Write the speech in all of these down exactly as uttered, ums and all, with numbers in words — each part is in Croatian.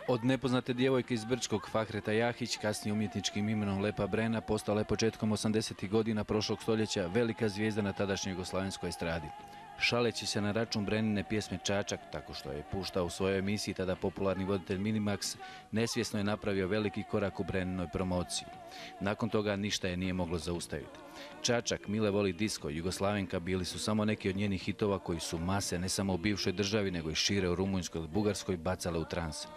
Od nepoznate djevojke iz Brčkog Fahreta Jahić, kasnije umjetničkim imenom Lepa Brena, postala je početkom osamdesetih godina prošlog stoljeća velika zvijezda na tadašnjoj jugoslavenskoj estradi. Šaleći se na račun Brenine pjesme Čačak, tako što je puštao u svojoj emisiji tada popularni voditelj Minimax, nesvjesno je napravio veliki korak u Breninoj promociji. Nakon toga ništa je nije moglo zaustaviti. Čačak, Mile voli disko, Jugoslavenka bili su samo neki od njenih hitova koji su mase ne samo u bivšoj državi, nego i šire u Rumunjskoj ili Bugarskoj bacale u trans.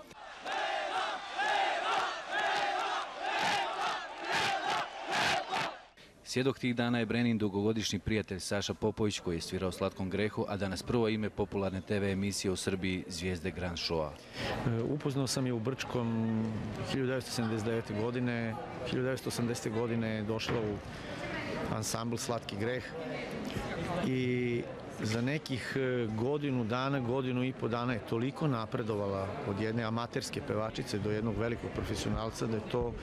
Svjedok tih dana je Brenin dugogodišnji prijatelj Saša Popović koji je svirao Slatkom grehu, a danas prvo ime popularne te ve emisije u Srbiji Zvijezde Grand Showa. Upoznao sam je u Brčkom hiljadu devetsto sedamdeset devete. godine. hiljadu devetsto osamdesete. godine došla u ansambl Slatki greh i za nekih godinu dana, godinu i po dana je toliko napredovala od jedne amaterske pevačice do jednog velikog profesionalca da je to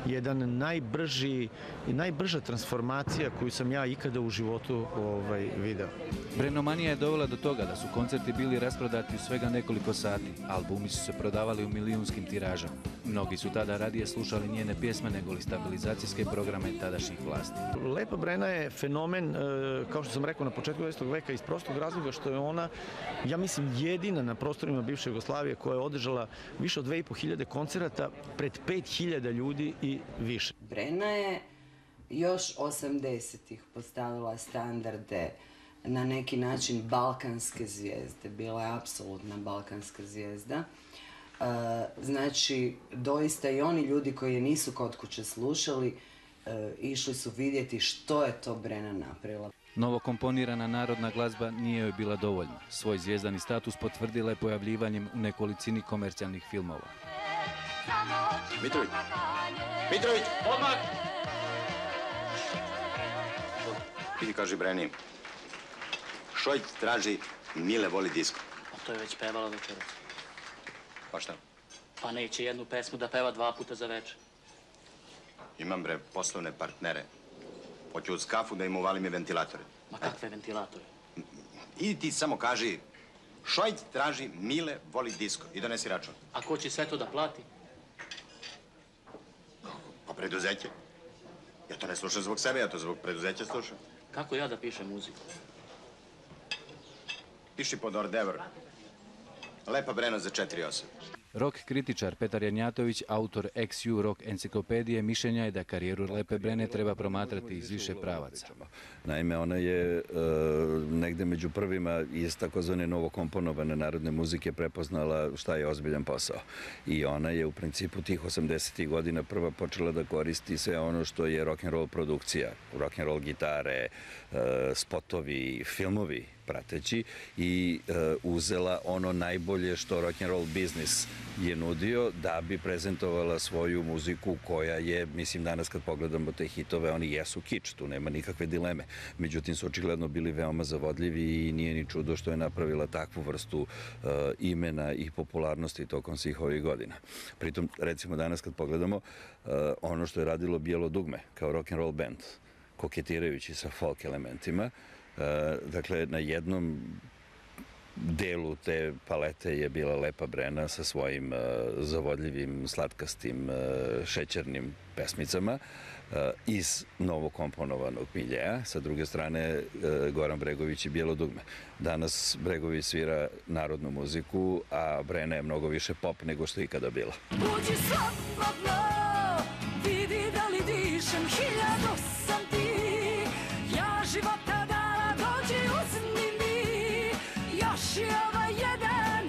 jedan najbrži i najbrža transformacija koju sam ja ikada u životu ovaj, video. Brenomanija je dovela do toga da su koncerti bili rasprodati u svega nekoliko sati. Albumi su se prodavali u milijunskim tiražama. Mnogi su tada radije slušali njene pjesme nego li stabilizacijske programe tadašnjih vlasti. Lepa Brena je fenomen, kao što sam rekao, na početku dvadesetog veka iz prostog razloga što je ona, ja mislim, jedina na prostorima bivše Jugoslavije koja je održala više od dve i po hiljade koncerata pred pet hiljada ljudi i više. Brena je još osamdesetih postavila standarde na neki način balkanske zvijezde. Bila je apsolutna balkanska zvijezda. Znači, doista i oni ljudi koji je nisu kod kuće slušali, išli su vidjeti što je to Brena napravila. Novo komponirana narodna glazba nije joj bila dovoljna. Svoj zvijezdani status potvrdila je pojavljivanjem u nekolicini komercijalnih filmova. Mitrović! Mitrović! Odmah! Idi kaži Breni. Šojt traži Mile voli disko. A to je već pevala večeras. Pa šta? Pa neće jednu pesmu da peva dva puta za večer. Imam, bre, poslovne partnere. Hoću uz kafu da im uvalim i ventilatore. Ma kakve ventilatore? Idi ti samo kaži, Šojt traži Mile voli disko i donesi račun. A ko će sve to da plati? Pa preduzeće. Ja to ne slušam zbog sebe, ja to zbog preduzeća slušam. Kako ja da pišem muziku? Piši pod ordevr. Lepa Brena za četiri osam. Rock kritičar Petar Janjatović, autor X U Rock enciklopedije, mišljenja je da karijeru Lepe Brene treba promatrati iz više pravaca. Naime, ona je e, negde među prvima iz takozvane novokomponovane narodne muzike prepoznala šta je ozbiljan posao. I ona je u principu tih osamdesetih godina prva počela da koristi sve ono što je rock'n'roll produkcija. Rock'n'roll gitare, e, spotovi, filmovi prateći i e, uzela ono najbolje što rock'n'roll biznis je nudio da bi prezentovala svoju muziku koja je, mislim, danas kad pogledamo te hitove, oni jesu kič, tu nema nikakve dileme. Međutim, su očigledno bili veoma zavodljivi i nije ni čudo što je napravila takvu vrstu uh, imena i popularnosti tokom svih ovih godina. Pritom, recimo danas kad pogledamo, uh, ono što je radilo Bijelo dugme kao rock'n'roll band, koketirajući sa folk elementima, uh, dakle, na jednom delu te palete je bila Lepa Brena sa svojim uh, zavodljivim, slatkastim, uh, šećernim pesmicama uh, iz novokomponovanog miljeja. Sa druge strane, uh, Goran Bregović i Bijelo dugme. Danas Bregović svira narodnu muziku, a Brena je mnogo više pop nego što je ikada bila. Uđi slobodno, vidi da li dišem, hiljadu sam ti, ja života dala, dođi uzmi mi, još je ovaj jedan,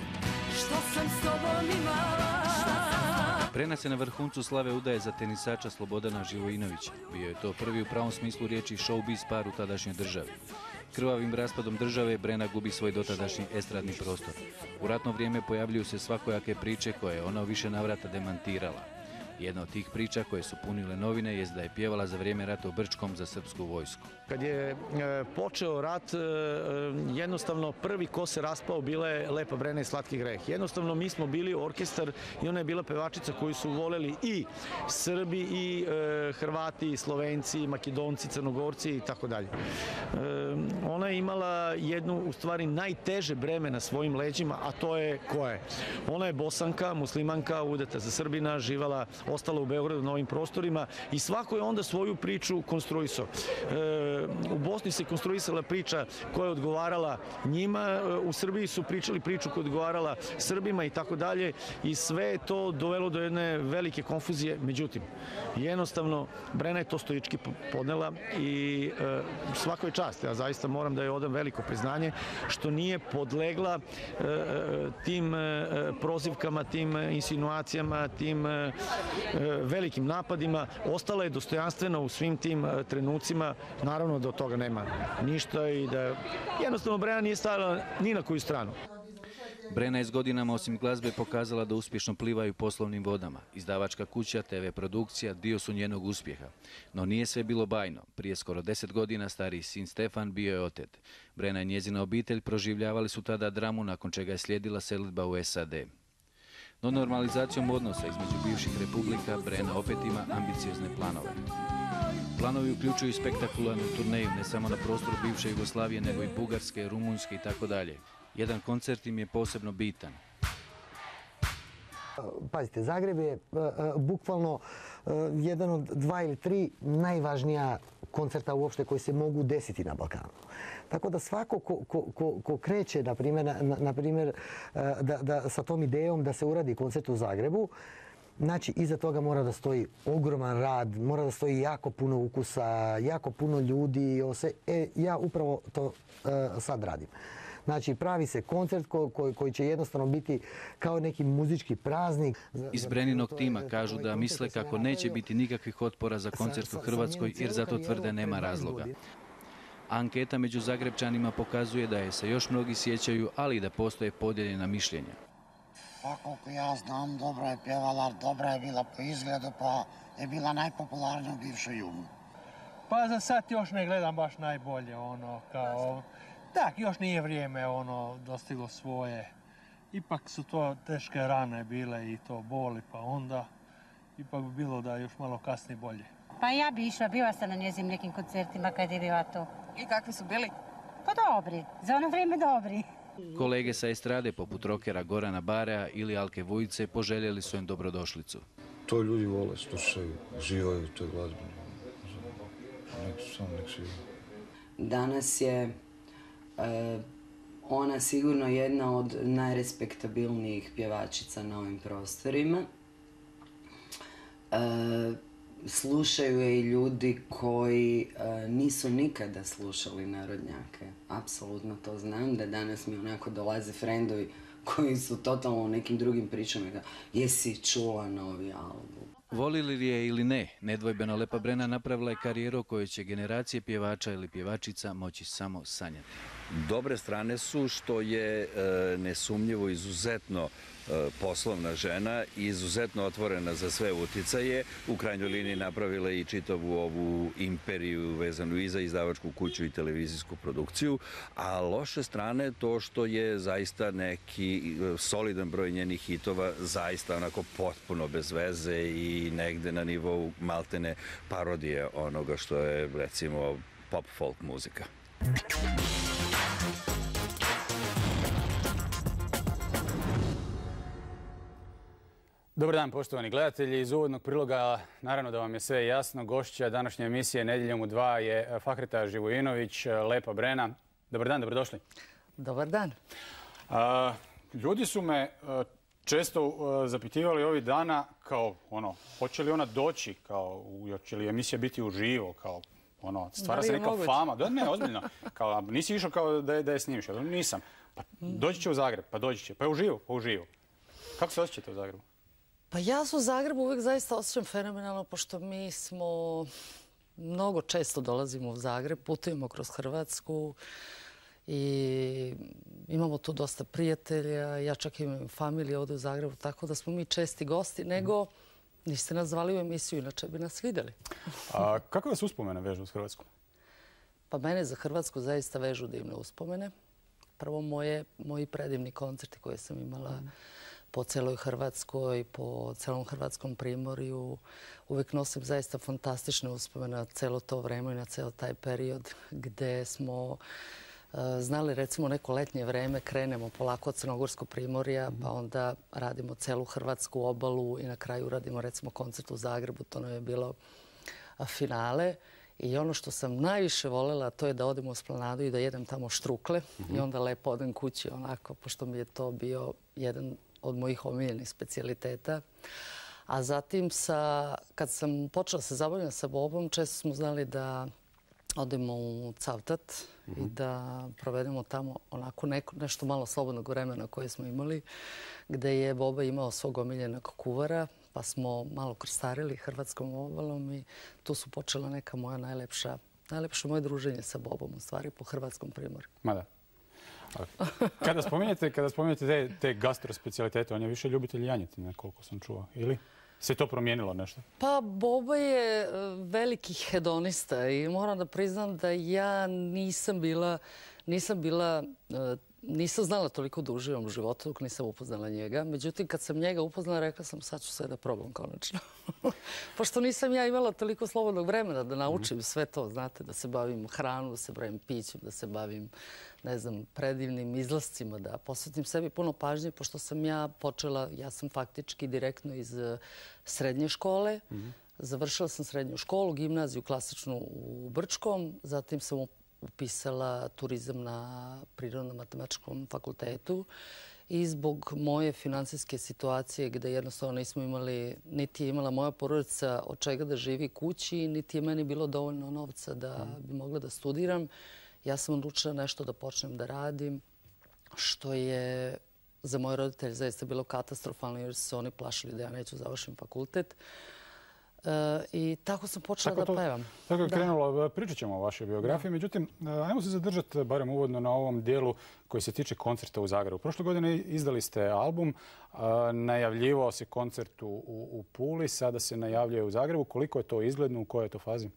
što sam s tobom imala. Brena se na vrhuncu slave udaje za tenisača Slobodana Živojinovića. Bio je to prvi u pravom smislu riječi showbiz par u tadašnjoj državi. Krvavim raspadom države Brena gubi svoj dotadašnji estradni prostor. U ratno vrijeme pojavljuju se svakojake priče koje je ona u više navrata demantirala. Jedna od tih priča koje su punile novine jest da je pjevala za vrijeme rata u Brčkom za srpsku vojsku. Kad je e, počeo rat, e, jednostavno prvi ko se raspao bila je Lepa Brena i Slatki greh. Jednostavno mi smo bili orkestar i ona je bila pevačica koju su voleli i Srbi i e, Hrvati, i Slovenci, i Makedonci, Crnogorci i tako dalje. Ona je imala jednu, u stvari, najteže breme na svojim leđima, a to je koje? Ona je Bosanka, muslimanka, udata za Srbina, živala, ostala u Beogradu na ovim prostorima i svako je onda svoju priču konstruisao. E, u Bosni se konstruisala priča koja je odgovarala njima, u Srbiji su pričali priču koja je odgovarala Srbima i tako dalje i sve je to dovelo do jedne velike konfuzije. Međutim, jednostavno, Brena je to stoički podnela i e, svako je čast. Ja zaista moram da je odam veliko priznanje što nije podlegla e, tim e, prozivkama, tim insinuacijama, tim e, velikim napadima. Ostala je dostojanstvena u svim tim e, trenucima. Naravno da od toga nema ništa i da jednostavno Brena nije stajala ni na koju stranu. Brena je s godinama osim glazbe pokazala da uspješno plivaju poslovnim vodama. Izdavačka kuća, te ve produkcija dio su njenog uspjeha. No nije sve bilo bajno. Prije skoro deset godina stariji sin Stefan bio je otet. Brena i njezina obitelj proživljavali su tada dramu nakon čega je slijedila selidba u es a de. No normalizacijom odnosa između bivših republika Brena opet ima ambiciozne planove. Planovi uključuju spektakularnu turneju ne samo na prostoru bivše Jugoslavije nego i Bugarske, Rumunjske i tako dalje. Jedan koncert im je posebno bitan. Pazite, Zagreb je bukvalno jedan od dva ili tri najvažnija koncerta uopšte koji se mogu desiti na Balkanu. Tako da svako ko, ko, ko, ko kreće, na primjer, na, na primjer da, da, sa tom idejom da se uradi koncert u Zagrebu, znači, iza toga mora da stoji ogroman rad, mora da stoji jako puno ukusa, jako puno ljudi. E, ja upravo to uh, sad radim. Znači, pravi se koncert ko, ko, koji će jednostavno biti kao neki muzički praznik. Iz Breninog tima kažu da misle kako neće biti nikakvih otpora za koncert u Hrvatskoj jer zato tvrde nema razloga. Anketa među Zagrebčanima pokazuje da je se još mnogi sjećaju, ali i da postoje podijeljena mišljenja. Pa koliko ja znam, dobro je pjevala, dobra je bila po izgledu, pa je bila najpopularnija u bivšoj Jugu. Pa za sad još ne gledam baš najbolje, ono, kao... Tak, još nije vrijeme, ono, dostiglo svoje. Ipak su to teške rane bile i to boli, pa onda ipak bi bilo da još malo kasnije bolje. Pa ja bi išla, bila sam na njezim nekim koncertima kad je bila to. I kakvi su bili? Pa dobri, za ono vrijeme dobri. Kolege sa estrade poput rokera Gorana Barea ili Alke Vujice poželjeli su im dobrodošlicu. To ljudi vole, slušaju, uživaju u toj glazbi. Nek, samo nek se... Danas je e, ona sigurno jedna od najrespektabilnijih pjevačica na ovim prostorima. E, slušaju je i ljudi koji e, nisu nikada slušali narodnjake. Apsolutno to znam, da danas mi onako dolaze frendovi koji su totalno u nekim drugim pričama. Jesi čula novi album? Volili li je ili ne, nedvojbeno Lepa Brena napravila je karijeru koju će generacije pjevača ili pjevačica moći samo sanjati. Dobre strane su što je e, nesumnjivo izuzetno e, poslovna žena i izuzetno otvorena za sve uticaje. U krajnjoj liniji napravila i čitavu ovu imperiju vezanu i za izdavačku kuću i televizijsku produkciju. A loše strane to što je zaista neki solidan broj njenih hitova zaista onako potpuno bez veze i negde na nivou maltene parodije onoga što je recimo pop folk muzika. Dobar dan, poštovani gledatelji. Iz uvodnog priloga, naravno da vam je sve jasno, gošća današnje emisije Nedjeljom u dva je Fahreta Živojinović, Lepa Brena. Dobar dan, dobrodošli. Dobar dan. A, ljudi su me a, često a, zapitivali ovih dana kao, ono, hoće li ona doći, kao, hoće li emisija biti uživo, kao, ono, stvara se neka fama. Da, ne, ozbiljno. Kao, nisi išao kao da je, da je snimiš. Nisam. Pa doći će u Zagreb, pa doći će. Pa je uživo, pa uživo. Kako se osjećate u Zagrebu? Pa ja se u Zagrebu uvijek zaista osjećam fenomenalno, pošto mi smo mnogo često dolazimo u Zagreb, putujemo kroz Hrvatsku i imamo tu dosta prijatelja. Ja čak imam familiju ovdje u Zagrebu, tako da smo mi česti gosti, nego Niste nas zvali u emisiju, inače bi nas vidjeli. A kako vas uspomene vežu s Hrvatskom? Pa mene za Hrvatsku zaista vežu divne uspomene. Prvo moje, moji predivni koncerti koje sam imala po celoj Hrvatskoj, po celom hrvatskom primorju. Uvijek nosim zaista fantastične uspomene na celo to vreme i na ceo taj period gde smo znali recimo neko letnje vreme, krenemo polako od Crnogorskog primorja, pa onda radimo celu hrvatsku obalu i na kraju radimo recimo koncert u Zagrebu. To nam je bilo finale. I ono što sam najviše voljela, to je da odem u Esplanadu i da jedem tamo štrukle i onda lepo odem kući onako, pošto mi je to bio jedan od mojih omiljenih specijaliteta. A zatim, sa, kad sam počela se zabavljati sa Bobom, često smo znali da odemo u Cavtat i da provedemo tamo onako neko, nešto malo slobodnog vremena koje smo imali, gde je Boba imao svog omiljenog kuvara, pa smo malo krstarili hrvatskom obalom i tu su počela neka moja najlepša, najlepše moje druženje sa Bobom, u stvari, po hrvatskom primorju. Ma da. Kada spominjete, kada spominjete te, te gastrospecialitete, on je više ljubitelj janjetine, koliko sam čuo, ili? Se to promijenilo nešto? Pa Boba je veliki hedonista i moram da priznam da ja nisam bila, nisam bila, nisam znala toliko da uživam u životu dok nisam upoznala njega. Međutim, kad sam njega upoznala, rekla sam sad ću sve da probam konačno. Pošto nisam ja imala toliko slobodnog vremena da naučim sve to, znate, da se bavim hranom, da se bavim pićem, da se bavim, ne znam, predivnim izlascima, da posvetim sebi puno pažnje, pošto sam ja počela, ja sam faktički direktno iz srednje škole. Završila sam srednju školu, gimnaziju klasičnu u Brčkom, zatim sam upisala turizam na Prirodno-matematičkom fakultetu i zbog moje finansijske situacije gde jednostavno nismo imali, niti je imala moja porodica od čega da živi kući, niti je meni bilo dovoljno novca da bi mogla da studiram, ja sam odlučila nešto da počnem da radim, što je za moje roditelje zaista bilo katastrofalno jer su se oni plašili da ja neću završim fakultet. I tako sam počela da pevam. Tako je krenulo. Pričat ćemo o vašoj biografiji. Međutim, ajmo se zadržati barem uvodno na ovom dijelu koji se tiče koncerta u Zagrebu. Prošle godine izdali ste album, najavljivao se koncert u Puli, sada se najavljuje u Zagrebu. Koliko je to izgledno, u kojoj je to fazi?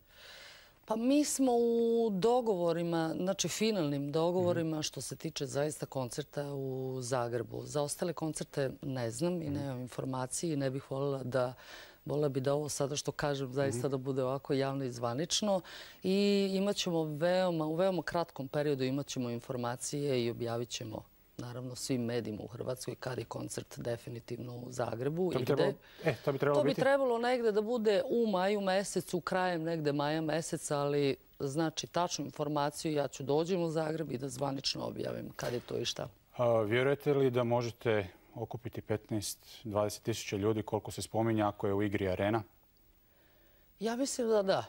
Pa mi smo u dogovorima, znači finalnim dogovorima što se tiče zaista koncerta u Zagrebu. Za ostale koncerte ne znam i nemam informacije i ne bih voljela da Voljela bi da ovo sada što kažem zaista da bude ovako javno i zvanično i imat ćemo veoma, u veoma kratkom periodu imat ćemo informacije i objavit ćemo naravno svim medijima u Hrvatskoj kad je koncert definitivno u Zagrebu. To bi trebalo, e, to bi trebalo to bi biti? trebalo negde da bude u maju mesecu, krajem negde maja meseca, ali znači tačnu informaciju ja ću dođem u Zagreb i da zvanično objavim kad je to i šta. A, vjerujete li da možete okupiti petnaest do dvadeset tisuća ljudi koliko se spominja ako je u igri Arena? Ja mislim da da.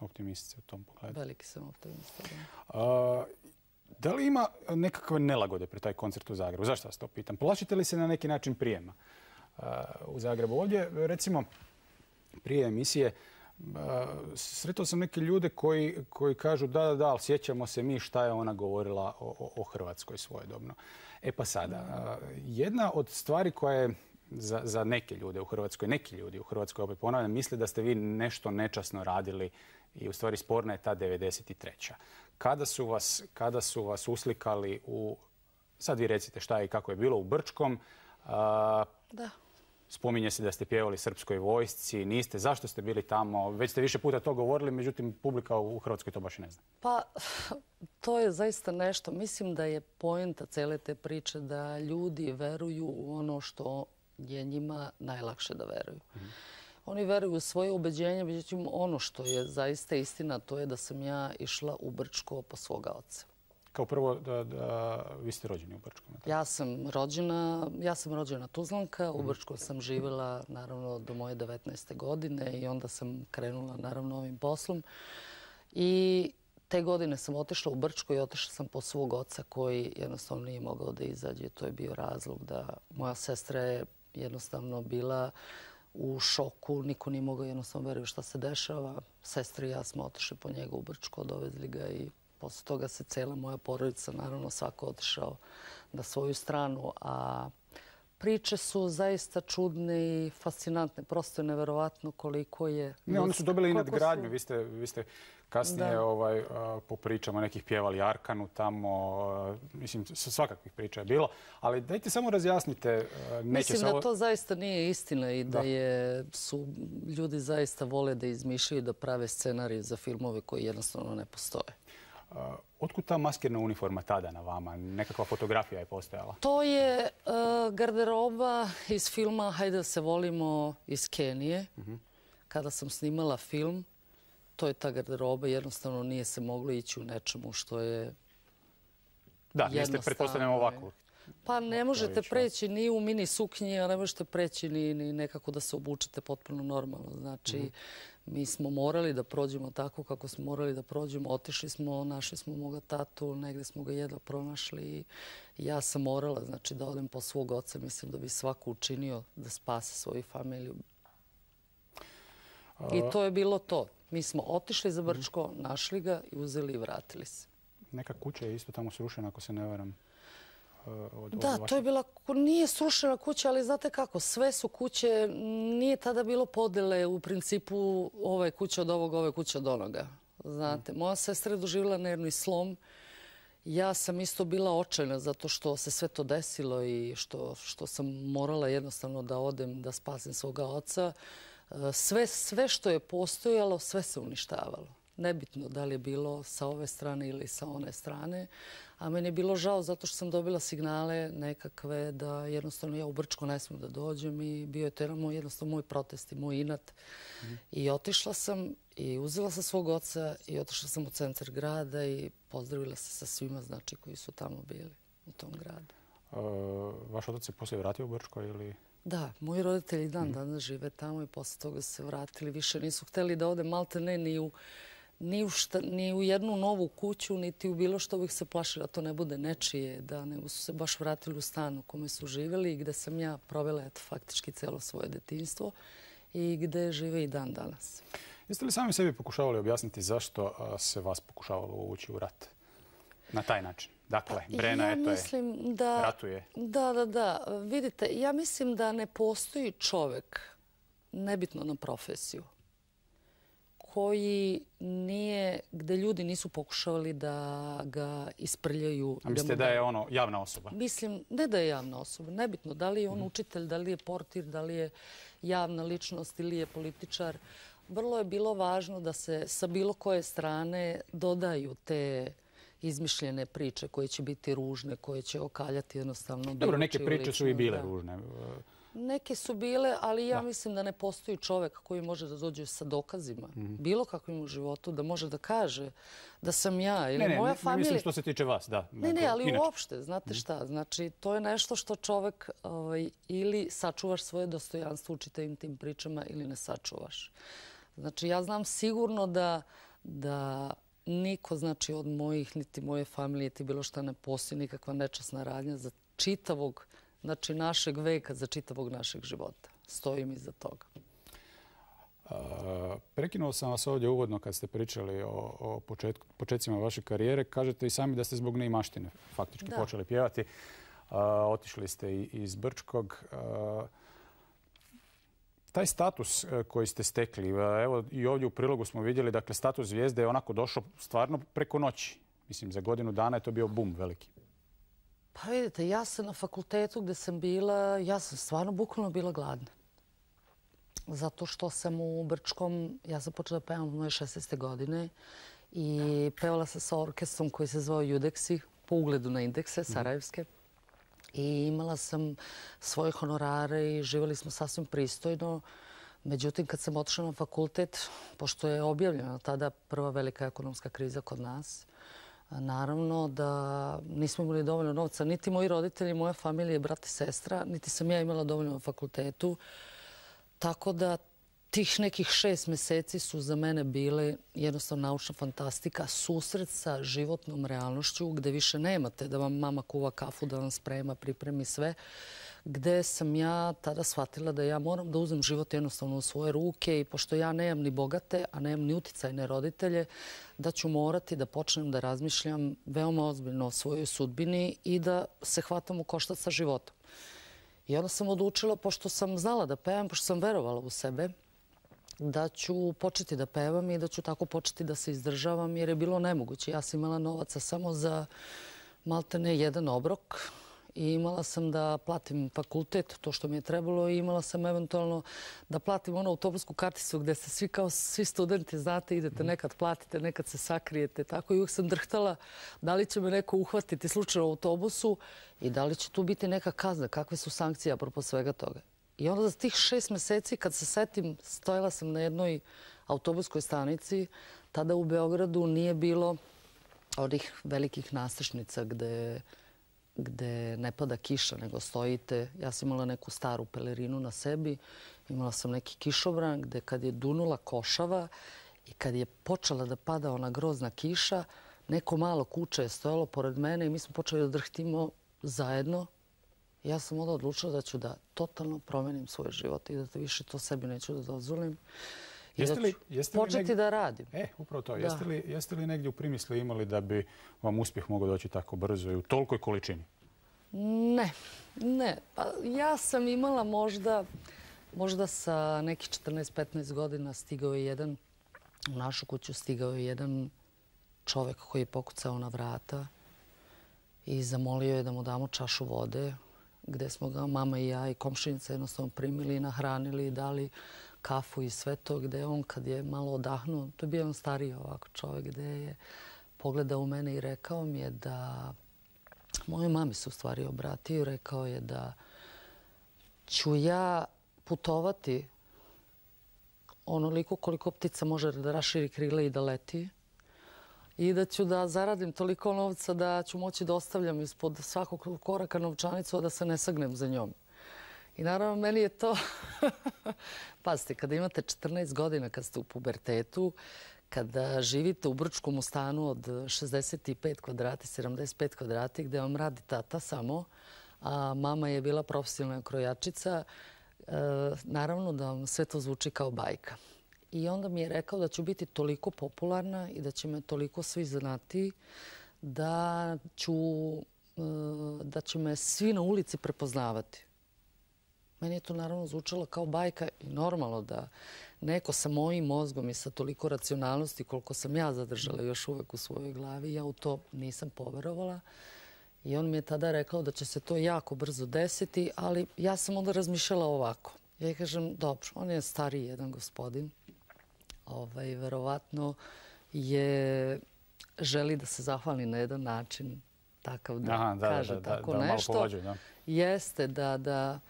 Optimist u tom pogledu. Veliki sam optimista. Da. Da li ima nekakve nelagode pred taj koncert u Zagrebu? Zašto vas to pitam? Plašite li se na neki način prijema u Zagrebu? Ovdje, recimo, prije emisije sretao sam neke ljude koji, koji kažu da, da, da, ali sjećamo se mi šta je ona govorila o, o, o Hrvatskoj svojedobno. E pa sada, jedna od stvari koja je za, za neke ljude u Hrvatskoj, neki ljudi u Hrvatskoj, opet ponavljam, misle da ste vi nešto nečasno radili i u stvari sporna je ta devedeset treća. Kada su vas, kada su vas uslikali u, sad vi recite šta je i kako je bilo, u Brčkom, a, da. Spominje se da ste pjevali srpskoj vojsci, niste. Zašto ste bili tamo? Već ste više puta to govorili, međutim, publika u Hrvatskoj to baš i ne zna. Pa, to je zaista nešto. Mislim da je poenta cele te priče da ljudi veruju u ono što je njima najlakše da veruju. Mm-hmm. Oni veruju u svoje ubeđenje, međutim, ono što je zaista istina, to je da sam ja išla u Brčko po svoga oca. Kao prvo, da, da, vi ste rođeni u Brčkom. Ja sam rođena, ja sam rođena Tuzlanka, u Brčkom sam živjela naravno do moje devetnaeste godine i onda sam krenula naravno ovim poslom. I te godine sam otišla u Brčko i otišla sam po svog oca koji jednostavno nije mogao da izađe. To je bio razlog da moja sestra je jednostavno bila u šoku, niko nije mogao jednostavno veriti šta se dešava. Sestra i ja smo otišli po njega u Brčko, dovezli ga i posle toga se cela moja porodica, naravno svako otišao na svoju stranu, a priče su zaista čudne i fascinantne. Prosto je neverovatno koliko je... Ne, oni su dobili i koliko nadgradnju. su- Vi ste, vi ste kasnije Da. ovaj, a, po pričama nekih pjevali Arkanu tamo. a, Mislim, s- svakakvih priča je bilo. Ali dajte samo razjasnite. a, Neće Mislim se da ovo... to zaista nije istina i da Da. je, su ljudi zaista vole da izmišljaju, da prave scenarije za filmove koji jednostavno ne postoje. A, Otkud ta maskirna uniforma tada na vama? Nekakva fotografija je postojala. To je e, garderoba iz filma Hajde da se volimo iz Kenije. Kada sam snimala film, to je ta garderoba. Jednostavno nije se moglo ići u nečemu što je Da, niste jednostavno pretpostavljamo je. ovako. Pa ne možete ići, da. preći ni u mini suknji, a ne možete preći ni, ni nekako da se obučete potpuno normalno. Znači, mi smo morali da prođemo tako kako smo morali da prođemo. Otišli smo, našli smo moga tatu, negdje smo ga jedva pronašli i ja sam morala znači, da odem po svog oca. Mislim da bi svako učinio da spase svoju familiju. I to je bilo to. Mi smo otišli za Brčko, našli ga i uzeli i vratili se. Neka kuća je isto tamo srušena, ako se ne varam. a, Od, Da, od to vaše- je bila, nije srušena kuća, ali znate kako, sve su kuće, nije tada bilo podele u principu ove kuće od ovog, ove kuće od onoga. Znate, moja sestra je doživjela nervni slom. Ja sam isto bila očajna zato što se sve to desilo i što, što sam morala jednostavno da odem da spasim svoga oca. E, Sve, sve što je postojalo, sve se uništavalo. Nebitno da li je bilo sa ove strane ili sa one strane. A meni je bilo žao zato što sam dobila signale nekakve da jednostavno ja u Brčko ne smijem da dođem i bio je to jedan moj, jednostavno moj protest i moj inat. I otišla sam i uzela sam svog oca i otišla sam u centar grada i pozdravila se sa svima znači, koji su tamo bili u tom gradu. a, Vaš otac se poslije vratio u Brčko ili... Da, moji roditelji dan danas žive tamo i posle toga su se vratili. Više nisu hteli da ode malte ne ni u, ni u, šta, ni u jednu novu kuću, niti u bilo što bih se plašila. To ne bude nečije, da nego su se baš vratili u stan u kome su živjeli i gde sam ja provela eto, faktički celo svoje detinjstvo i gde žive i dan danas. Jeste li sami sebi pokušavali objasniti zašto a, se vas pokušavalo uvući u rat? Na taj način. Dakle, Brena ja eto je, mislim da, ratuje. Da, da, da. Vidite, ja mislim da ne postoji čovjek, nebitno na profesiju, koji nije, gde ljudi nisu pokušavali da ga isprljaju. A mislite mu da je daju- ono javna osoba? Mislim, ne da je javna osoba, nebitno da li je on učitelj, da li je portir, da li je javna ličnost ili je političar. Vrlo je bilo važno da se sa bilo koje strane dodaju te izmišljene priče koje će biti ružne, koje će okaljati jednostavno Dobro, bilo neke čiju priče su i ličnost, bile da. ružne. Neke su bile, ali ja mislim da ne postoji čovjek koji može da dođe sa dokazima, bilo kakvim u životu, da može da kaže da sam ja ili Ne, ne, moja ne, ne familija... mislim što se tiče vas, da. Ne, ne, nego ali inače. uopšte, znate šta, znači to je nešto što čovjek ovaj, ili sačuvaš svoje dostojanstvo u čitavim tim pričama ili ne sačuvaš. Znači ja znam sigurno da, da niko znači, od mojih niti moje familije ti bilo šta ne postoji nikakva nečasna radnja za čitavog znači, našeg veka, za čitavog našeg života. Stojim iza toga. A, Prekinuo sam vas ovdje uvodno kad ste pričali o, o početku, početcima vaše karijere. Kažete i sami da ste zbog neimaštine faktički Da. počeli pjevati. A, otišli ste i iz Brčkog. A, taj status e, koji ste stekli, e, evo i ovdje u prilogu smo vidjeli, dakle status zvijezde je onako došao stvarno preko noći. Mislim, za godinu dana je to bio bum veliki. Pa vidite, ja sam na fakultetu gdje sam bila, ja sam stvarno bukvalno bila gladna. Zato što sam u Brčkom, ja sam počela da pevam od moje šesnaeste godine i pevala sam sa orkestrom koji se zvao Judeksi, po ugledu na indekse sarajevske. I imala sam svoje honorare i živjeli smo sasvim pristojno. Međutim, kad sam otišla na fakultet, pošto je objavljena tada prva velika ekonomska kriza kod nas, naravno da nismo imali dovoljno novca. Niti moji roditelji, moja familija, brat i sestra, niti sam ja imala dovoljno na fakultetu. Tako da tih nekih šest mjeseci su za mene bile jednostavno naučna fantastika, susret sa životnom realnošću gdje više nemate da vam mama kuva kafu, da vam sprema, pripremi sve. Gde sam ja tada shvatila da ja moram da uzem život jednostavno u svoje ruke i pošto ja nemam ni bogate, a nemam ni uticajne roditelje, da ću morati da počnem da razmišljam veoma ozbiljno o svojoj sudbini i da se hvatam u koštac sa životom. I onda sam odlučila, pošto sam znala da pevam, pošto sam verovala u sebe, da ću početi da pevam i da ću tako početi da se izdržavam, jer je bilo nemoguće. Ja sam imala novaca samo za maltene jedan obrok i imala sam da platim fakultet, to što mi je trebalo, i imala sam eventualno da platim onu autobusku karticu gdje ste svi kao svi studenti, znate, idete, nekad platite, nekad se sakrijete. Tako i uvijek sam drhtala da li će me neko uhvatiti slučajno u autobusu i da li će tu biti neka kazna, kakve su sankcije apropo svega toga. I onda za tih šest mjeseci, kad se setim, stojala sam na jednoj autobuskoj stanici. Tada u Beogradu nije bilo onih velikih nastrešnica gde, gde ne pada kiša, nego stojite. Ja sam imala neku staru pelerinu na sebi, imala sam neki kišobran gde kad je dunula košava i kad je počela da pada ona grozna kiša, neko malo kuće je stojalo pored mene i mi smo počeli da drhtimo zajedno. Ja sam onda odlučila da ću da totalno promenim svoj život i da više to sebi neću da dozvolim. I da ću početi da radim. E, upravo to. Jeste li, jeste li negdje u primisli imali da bi vam uspjeh mogao doći tako brzo i u tolikoj količini? Ne, ne. Pa ja sam imala možda, možda sa nekih četrnaest petnaest godina stigao je jedan, u našu kuću stigao je jedan čovjek koji je pokucao na vrata i zamolio je da mu damo čašu vode, gdje smo ga mama i ja i komšinica jednostavno primili, nahranili, dali kafu i sve to, gdje je on kad je malo odahnuo, to je bio on stariji ovako čovjek, gdje je pogledao u mene i rekao mi je da, mojoj mami se u stvari obratio i rekao je da ću ja putovati onoliko koliko ptica može da raširi krile i da leti, i da ću da zaradim toliko novca da ću moći da ostavljam ispod svakog koraka novčanicu, a da se ne sagnem za njom. I naravno, meni je to... Pazite, kada imate četrnaest godina, kad ste u pubertetu, kada živite u Brčkom stanu od šezdeset pet kvadrata, sedamdeset pet kvadrata, gdje vam radi tata samo, a mama je bila profesionalna krojačica, naravno da vam sve to zvuči kao bajka. I onda mi je rekao da ću biti toliko popularna i da će me toliko svi znati da ću, da će me svi na ulici prepoznavati. Meni je to naravno zvučalo kao bajka i normalno da neko sa mojim mozgom i sa toliko racionalnosti koliko sam ja zadržala još uvek u svojoj glavi, ja u to nisam poverovala. I on mi je tada rekao da će se to jako brzo desiti, ali ja sam onda razmišljala ovako. Ja kažem, dobro, on je stariji jedan gospodin. Ovaj, verovatno je želi da se zahvali na jedan način takav da, Aha, da kaže da, tako da, da, nešto. Malo povađuj, da. Jeste da, da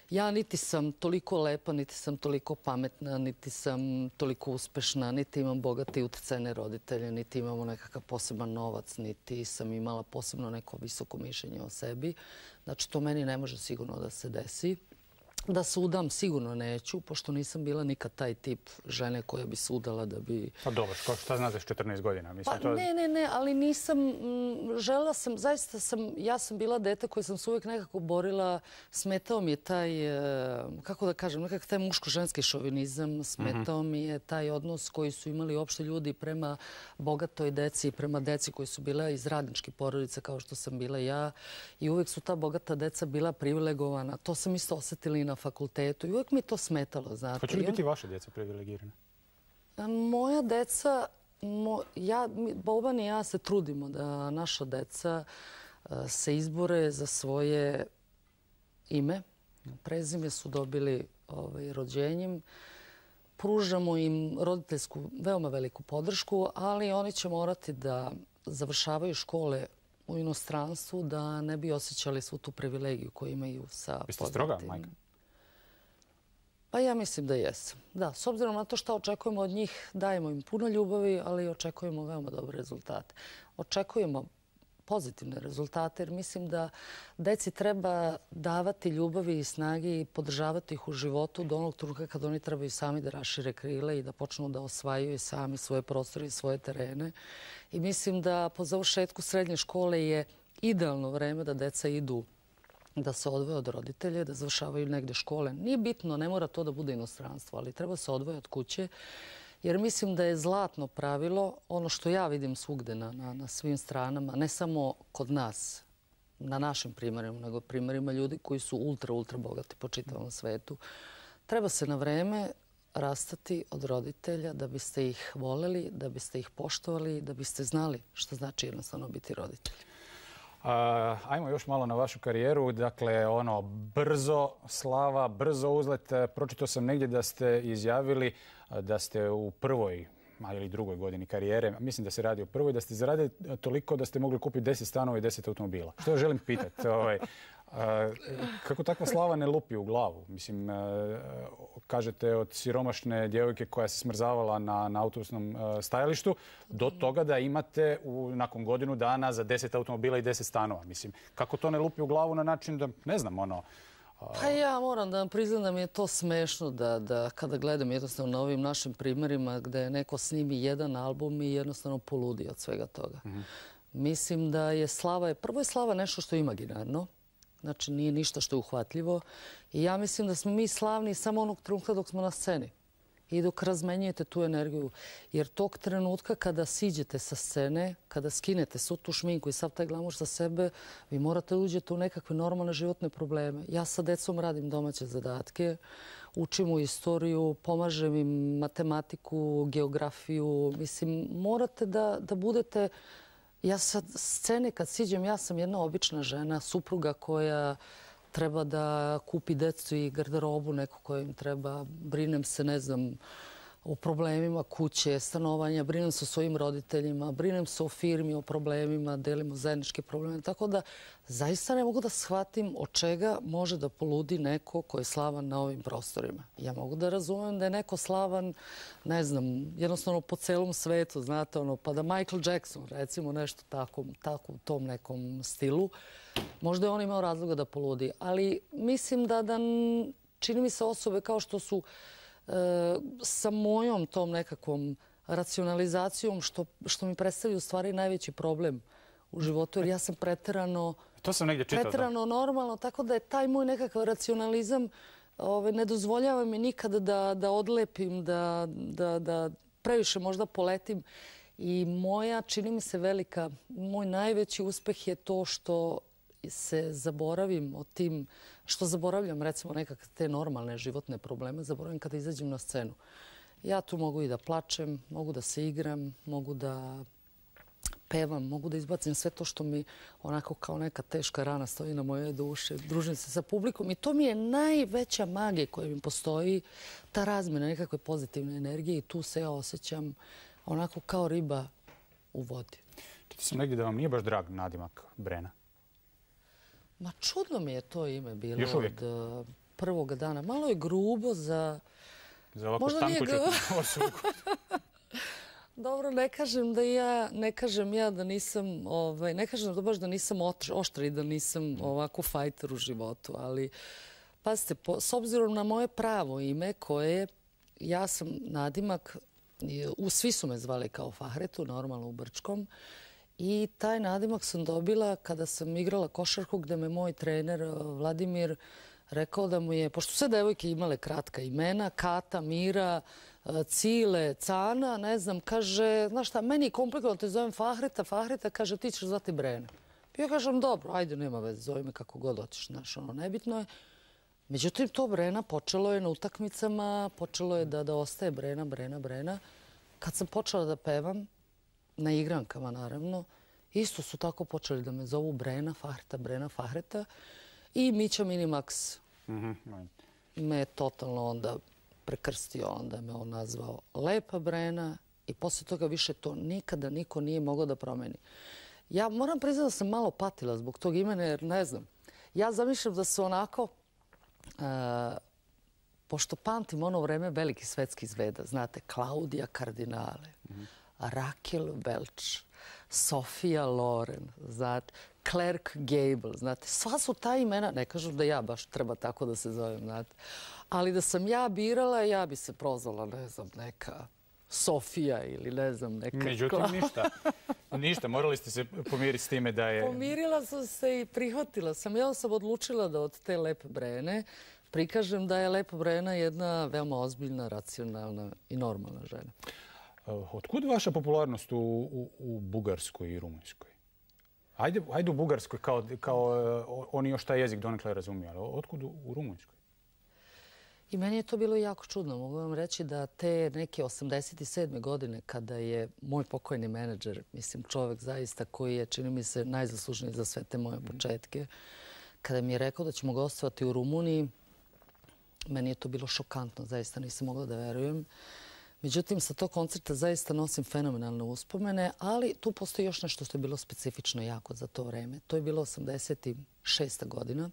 ja niti sam toliko lepa, niti sam toliko pametna, niti sam toliko uspešna, niti imam bogate i utjecajne roditelje, niti imamo nekakav poseban novac, niti sam imala posebno neko visoko mišljenje o sebi. Znači, to meni ne može sigurno da se desi. Da se udam sigurno neću, pošto nisam bila nikad taj tip žene koja bi se udala da bi... Pa dobro, šta znaš četrnaest godina? Mislim, pa to... ne, ne, ne, ali nisam, želela sam, zaista sam, ja sam bila dete koja sam se uvijek nekako borila, smetao mi je taj, kako da kažem, nekako taj muško-ženski šovinizam, smetao mi je taj odnos koji su imali uopšte ljudi prema bogatoj deci i prema deci koji su bila iz radničkih porodica kao što sam bila ja, i uvijek su ta bogata deca bila privilegovana. To sam isto osjetila i na fakultetu i uvijek mi to smetalo, znate. Hoće li biti vaša djeca privilegirana? Moja deca, mo, ja, Boban i ja se trudimo da naša deca se izbore za svoje ime. Prezime su dobili ovaj, rođenjem. Pružamo im roditeljsku veoma veliku podršku, ali oni će morati da završavaju škole u inostranstvu da ne bi osjećali svu tu privilegiju koju imaju sa poznatim. Jeste stroga, majka? Pa ja mislim da jesam. Da, s obzirom na to što očekujemo od njih, dajemo im puno ljubavi, ali očekujemo veoma dobre rezultate. Očekujemo pozitivne rezultate, jer mislim da deci treba davati ljubavi i snage i podržavati ih u životu do onog trenutka kad oni trebaju sami da rašire krile i da počnu da osvajaju sami svoje prostore i svoje terene. I mislim da po završetku srednje škole je idealno vreme da deca idu da se odvoje od roditelja, da završavaju negde škole. Nije bitno, ne mora to da bude inostranstvo, ali treba se odvoje od kuće, jer mislim da je zlatno pravilo, ono što ja vidim svugde na, na, na svim stranama, ne samo kod nas, na našim primjerima, nego primjerima ljudi koji su ultra, ultra bogati po čitavom svetu. Treba se na vreme rastati od roditelja da biste ih voleli, da biste ih poštovali, da biste znali što znači jednostavno biti roditelj. Ajmo još malo na vašu karijeru. Dakle, ono, brzo slava, brzo uzlet. Pročitao sam negdje da ste izjavili da ste u prvoj ili drugoj godini karijere, mislim da se radi o prvoj, da ste zaradili toliko da ste mogli kupiti deset stanova i deset automobila. Što želim pitati? Ovaj, kako takva slava ne lupi u glavu? Mislim, kažete od siromašne djevojke koja se smrzavala na, na autobusnom stajalištu do toga da imate u, nakon godinu dana za deset automobila i deset stanova. Mislim, kako to ne lupi u glavu na način da, ne znam, ono... Pa ja moram da vam priznam da mi je to smešno da, da kada gledam jednostavno na ovim našim primjerima gdje neko snimi jedan album i jednostavno poludi od svega toga. Mm-hmm. Mislim da je slava, prvo je slava nešto što je imaginarno, znači nije ništa što je uhvatljivo i ja mislim da smo mi slavni samo onog trenutka dok smo na sceni i dok razmenjujete tu energiju. Jer tog trenutka kada siđete sa scene, kada skinete svu tu šminku i sav taj glamour sa sebe, vi morate uđete u nekakve normalne životne probleme. Ja sa decom radim domaće zadatke, učim u istoriju, pomažem im matematiku, geografiju. Mislim, morate da, da budete... Ja sa scene kad siđem, ja sam jedna obična žena, supruga koja treba da kupi decu i garderobu, neko koja im treba. Brinem se, ne znam, o problemima kuće, stanovanja, brinem se o svojim roditeljima, brinem se o firmi, o problemima, delimo zajedničke probleme. Tako da zaista ne mogu da shvatim od čega može da poludi neko ko je slavan na ovim prostorima. Ja mogu da razumem da je neko slavan, ne znam, jednostavno po celom svetu, znate, ono, pa da Michael Jackson, recimo nešto tako, tako u tom nekom stilu, možda je on imao razloga da poludi. Ali mislim da, da čini mi se osobe kao što su sa mojom tom nekakvom racionalizacijom što, što mi predstavlja u stvari najveći problem u životu, jer ja sam preterano, to sam negdje čitao, preterano normalno, tako da je taj moj nekakav racionalizam ove, ne dozvoljava mi nikada da, da odlepim, da, da, da previše možda poletim. I moja, čini mi se velika, moj najveći uspeh je to što se zaboravim o tim, što zaboravljam recimo nekakve te normalne životne probleme, zaboravim kada izađem na scenu. Ja tu mogu i da plačem, mogu da se igram, mogu da pevam, mogu da izbacim sve to što mi onako kao neka teška rana stoji na moje duše. Družim se sa publikom i to mi je najveća magija koja mi postoji, ta razmjena nekakve pozitivne energije i tu se ja osjećam onako kao riba u vodi. Čitao sam negdje da vam nije baš drag nadimak Brena. Ma čudno mi je to ime bilo od uh, prvoga dana. Malo je grubo za... Za ovako stankuću osobu. Dobro, ne kažem da ja, ne kažem ja da nisam, ovaj, ne kažem da baš da nisam oštra i da nisam ovako fajter u životu, ali pazite, po, s obzirom na moje pravo ime koje ja sam nadimak, u, svi su me zvali kao Fahretu, normalno u Brčkom, i taj nadimak sam dobila kada sam igrala košarku gdje me moj trener Vladimir rekao da mu je, pošto sve devojke imale kratka imena, Kata, Mira, Cile, Cana, ne znam, kaže, znaš šta, meni je komplikovano, te zovem Fahreta, Fahreta, kaže, ti ćeš zvati Brena. Ja kažem, dobro, ajde, nema veze, zove me kako god hoćeš, znaš, ono, nebitno je. Međutim, to Brena počelo je na utakmicama, počelo je da, da ostaje Brena, Brena, Brena. Kad sam počela da pevam, na igrankama naravno, isto su tako počeli da me zovu Brena, Fahreta, Brena, Fahreta. I Mića Minimax mm-hmm. me je totalno onda prekrstio, onda me on nazvao Lepa Brena i poslije toga više to nikada niko nije mogao da promeni. Ja moram priznati da sam malo patila zbog tog imena jer ne znam. Ja zamišljam da su onako, uh, pošto pamtim ono vreme veliki svetski zveda, znate, Klaudija Kardinale, mm-hmm. Rakel Welch, Sofia Loren, znate, Clark Gable, znate, sva su ta imena, ne kažem da ja baš treba tako da se zovem, znate, ali da sam ja birala, ja bi se prozvala, ne znam, neka Sofija ili ne znam, neka... Međutim, ništa. Ništa, morali ste se pomiriti s time da je... Pomirila sam se i prihvatila sam. Ja sam odlučila da od te Lepe Brene prikažem da je Lepa Brena jedna veoma ozbiljna, racionalna i normalna žena. Otkud vaša popularnost u, u, u Bugarskoj i Rumunjskoj? Ajde, ajde u Bugarskoj, kao, kao uh, oni još taj jezik donekle razumiju, ali otkud u, u Rumunjskoj? I meni je to bilo jako čudno. Mogu vam reći da te neke osamdeset sedme godine, kada je moj pokojni menadžer, mislim čovjek zaista koji je, čini mi se, najzaslužniji za sve te moje početke, kada mi je rekao da ćemo gostovati u Rumuniji, meni je to bilo šokantno, zaista nisam mogla da verujem. Međutim, sa tog koncerta zaista nosim fenomenalne uspomene, ali tu postoji još nešto što je bilo specifično jako za to vreme. To je bilo osamdeset šesta godina.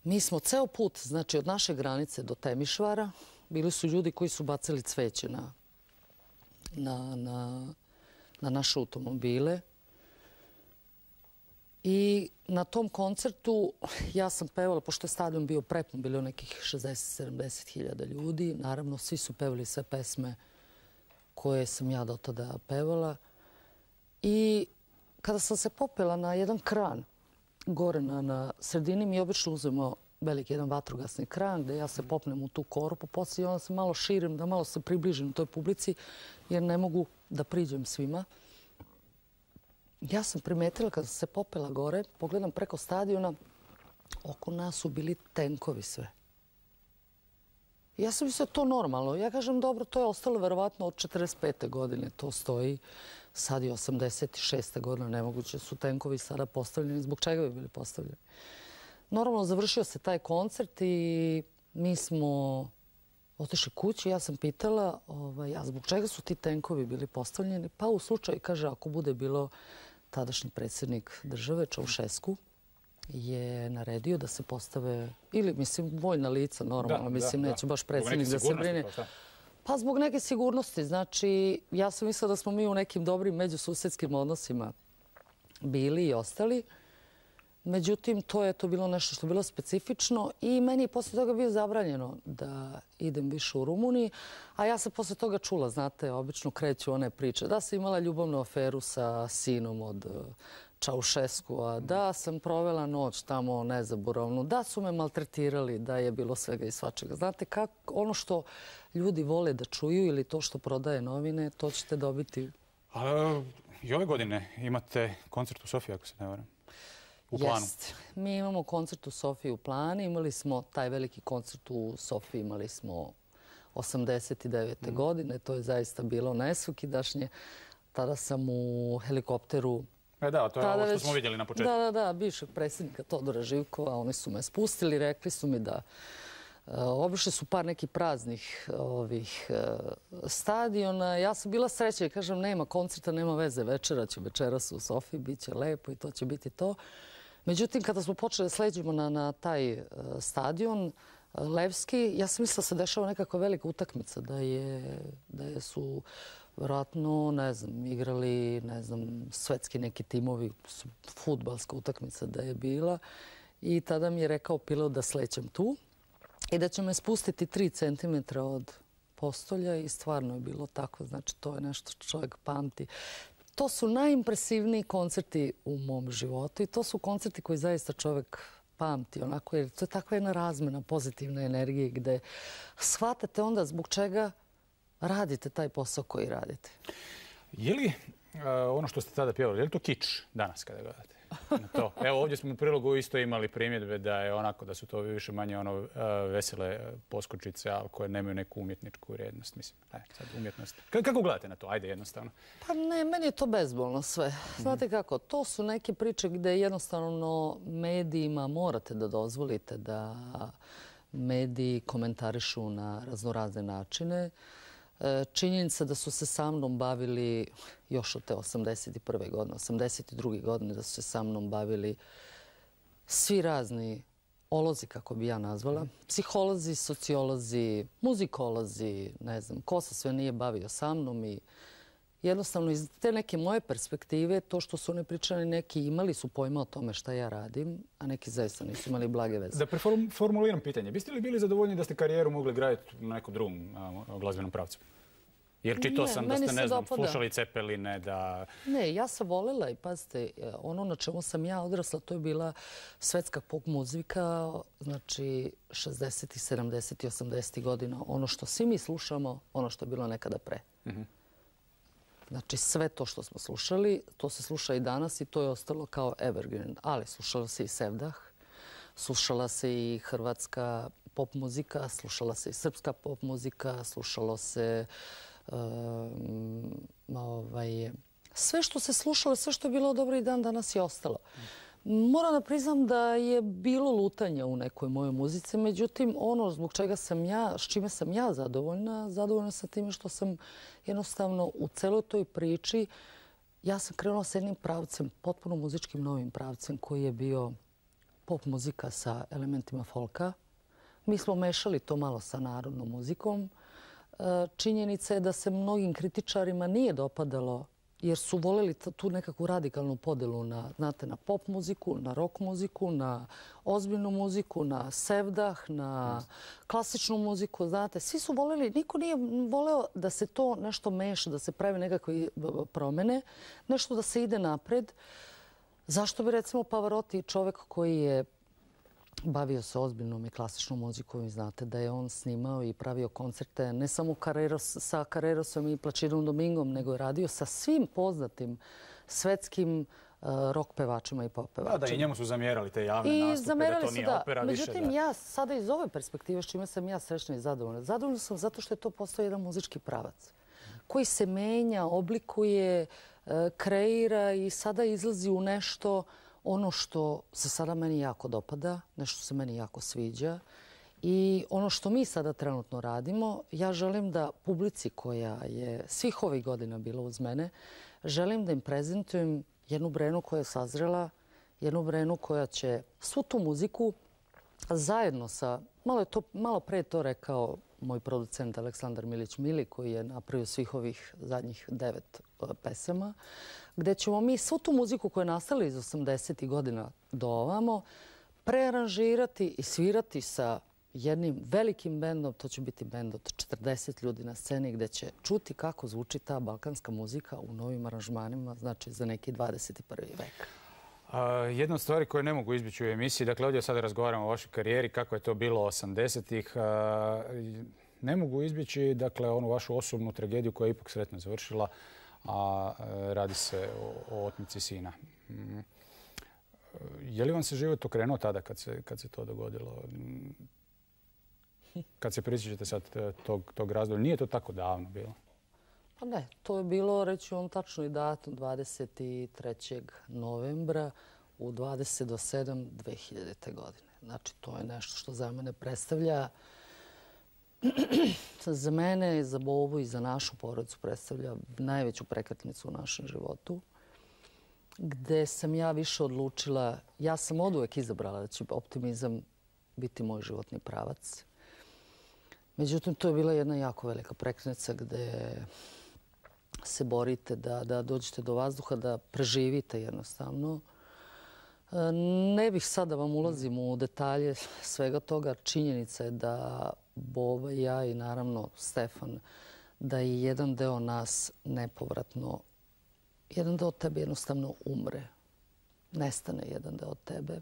Mi smo ceo put, znači od naše granice do Temišvara, bili su ljudi koji su bacili cveće na, na, na, na naše automobile. I na tom koncertu ja sam pevala, pošto je stadion bio prepun, bilo nekih šezdeset sedamdeset hiljada ljudi. Naravno, svi su pevali sve pesme koje sam ja do tada pevala. I kada sam se popela na jedan kran, gore na, na sredini, mi obično uzmemo veliki jedan vatrogasni kran gdje ja se popnem u tu korpu, poslije onda se malo širim, da malo se približim toj publici, jer ne mogu da priđem svima. Ja sam primetila kada sam se popela gore, pogledam preko stadiona, oko nas su bili tenkovi sve. Ja sam mislila to normalno. Ja kažem, dobro, to je ostalo verovatno od četrdeset pete godine. To stoji. Sad je osamdeset šesta godina. Nemoguće su tenkovi sada postavljeni. Zbog čega bi bili postavljeni? Normalno, završio se taj koncert i mi smo otišli kući. Ja sam pitala, ovaj, a zbog čega su ti tenkovi bili postavljeni? Pa u slučaju, kaže, ako bude bilo tadašnji predsjednik države, Čaušesku, je naredio da se postave, ili mislim vojna lica normalno, da, mislim da, neće da. baš predsjednik da se brine. Pa zbog neke sigurnosti. Znači, ja sam mislila da smo mi u nekim dobrim međususedskim odnosima bili i ostali. Međutim, to je to bilo nešto što je bilo specifično i meni je poslije toga bio zabranjeno da idem više u Rumuniji, a ja sam poslije toga čula, znate, obično kreću one priče, da sam imala ljubavnu aferu sa sinom od Čaušeskua, da sam provela noć tamo nezaboravnu, da su me maltretirali, da je bilo svega i svačega. Znate, kako, ono što ljudi vole da čuju ili to što prodaje novine, to ćete dobiti. A, i ove godine imate koncert u Sofiji, ako se ne varam. U planu. Jest. Mi imamo koncert u Sofiji u planu. Imali smo taj veliki koncert u Sofiji, imali smo osamdeset devete godine. To je zaista bilo nesvakidašnje. Tada sam u helikopteru... E da, to je ovo što smo vidjeli na početku. Da, da, da, bivšeg predsjednika Todora Živkova. Oni su me spustili, rekli su mi da obišli su par nekih praznih ovih stadiona. Ja sam bila sreća i kažem, nema koncerta, nema veze, večera ću večeras u Sofiji, bit će lepo i to će biti to. Međutim, kada smo počeli da sleđemo na, na taj stadion Levski, ja sam mislila da se dešava nekakva velika utakmica, da je, da je su vjerojatno, ne znam, igrali, ne znam, svetski neki timovi, fudbalska utakmica da je bila. I tada mi je rekao pilot da slećem tu i da će me spustiti tri centimetra od postolja i stvarno je bilo tako. Znači, to je nešto što čovjek pamti. To su najimpresivniji koncerti u mom životu i to su koncerti koji zaista čovjek pamti. Onako, jer to je takva jedna razmena pozitivne energije gde shvatate onda zbog čega radite taj posao koji radite. Je li uh, ono što ste tada pjevali, je li to kič danas kada gledate? Na to. Evo, ovdje smo u prilogu isto imali primjedbe da je onako, da su to više manje ono uh, vesele poskočice, ali koje nemaju neku umjetničku vrijednost. Mislim, ne, sad umjetnost. K kako gledate na to? Ajde, jednostavno. Pa ne, meni je to bezbolno sve. Znate kako, to su neke priče gde jednostavno medijima morate da dozvolite da mediji komentarišu na raznorazne načine. Činjenica da su se sa mnom bavili još od te osamdeset prve godine, osamdeset druge godine, da su se sa mnom bavili svi razni olozi, kako bi ja nazvala. Psiholozi, sociolozi, muzikolozi, ne znam, ko se sve nije bavio sa mnom i jednostavno iz te neke moje perspektive, to što su oni pričali, neki imali su pojma o tome šta ja radim, a neki zaista nisu imali blage veze. Da preformuliram pitanje, biste li bili zadovoljni da ste karijeru mogli graditi na nekom drugom glazbenom pravcu? Jer čitao sam da ste, ne znam, slušali Cepeline, da... Ne, ja sam voljela i pazite, ono na čemu sam ja odrasla, to je bila svetska pop muzika, znači šezdesetih, sedamdesetih, osamdesetih godina, ono što svi mi slušamo, ono što je bilo nekada pre. Znači sve to što smo slušali, to se sluša i danas i to je ostalo kao evergreen. Ali slušalo se i Sevdah, slušala se i hrvatska pop muzika, slušala se i srpska pop muzika, slušalo se um, ovaj, sve što se slušalo, sve što je bilo dobro i dan danas je ostalo. Moram da priznam da je bilo lutanja u nekoj mojoj muzici, međutim ono zbog čega sam ja, s čime sam ja zadovoljna, zadovoljna sam time što sam jednostavno u celoj toj priči, ja sam krenula s jednim pravcem, potpuno muzičkim novim pravcem koji je bio pop muzika sa elementima folka. Mi smo mešali to malo sa narodnom muzikom. Činjenica je da se mnogim kritičarima nije dopadalo jer su voljeli tu nekakvu radikalnu podelu na, znate, na pop muziku, na rock muziku, na ozbiljnu muziku, na sevdah, na klasičnu muziku. Znate, svi su voljeli, niko nije voleo da se to nešto meša, da se pravi nekakve promjene, nešto da se ide napred. Zašto bi recimo Pavarotti, čovjek koji je bavio se ozbiljnom i klasičnom muzikom i znate da je on snimao i pravio koncerte ne samo Carreros, sa Carrerosom i Placidom Domingom, nego je radio sa svim poznatim svetskim uh, rock pevačima i pop pevačima. Da, da, i njemu su zamjerali te javne I nastupe, zamjerali da to su, nije da. opera više. Međutim, ja sada iz ove perspektive, s čime sam ja srećna i zadovoljna, zadovoljna sam zato što je to postao jedan muzički pravac koji se menja, oblikuje, uh, kreira i sada izlazi u nešto ono što se sada meni jako dopada, nešto se meni jako sviđa i ono što mi sada trenutno radimo, ja želim da publici koja je svih ovih godina bila uz mene, želim da im prezentujem jednu Brenu koja je sazrela, jednu Brenu koja će svu tu muziku zajedno sa, malo, je to, malo pre to rekao moj producent Aleksandar Milić-Mili koji je napravio svih ovih zadnjih devet pesama, gdje ćemo mi svu tu muziku koja je nastala iz osamdesetih godina do ovamo prearanžirati i svirati sa jednim velikim bendom. To će biti bend od četrdeset ljudi na sceni gdje će čuti kako zvuči ta balkanska muzika u novim aranžmanima, znači za neki dvadeset prvi vek. Uh, jedna od stvari koje ne mogu izbjeći u emisiji, dakle ovdje sada razgovaramo o vašoj karijeri, kako je to bilo osamdesetih, uh, ne mogu izbjeći dakle onu vašu osobnu tragediju koja je ipak sretno završila, a radi se o, o otmici sina. Mm. Je li vam se život okrenuo tada kad se, kad se to dogodilo? Kad se prisjećate sad tog, tog razdoblja, nije to tako davno bilo? Pa ne, to je bilo, reći vam tačno i datum, dvadeset trećeg novembra u dvadeset do sedam dve hiljadite. godine. Znači, to je nešto što za mene predstavlja, za mene, za Bobu i za našu porodicu predstavlja najveću prekretnicu u našem životu, gde sam ja više odlučila, ja sam oduvek izabrala da će optimizam biti moj životni pravac. Međutim, to je bila jedna jako velika prekretnica gde se borite da, da dođete do vazduha, da preživite jednostavno. Ne bih sad da vam ulazim u detalje svega toga. Činjenica je da Boba i ja i naravno Stefan, da je jedan deo nas nepovratno, jedan deo tebe jednostavno umre. Nestane jedan deo tebe.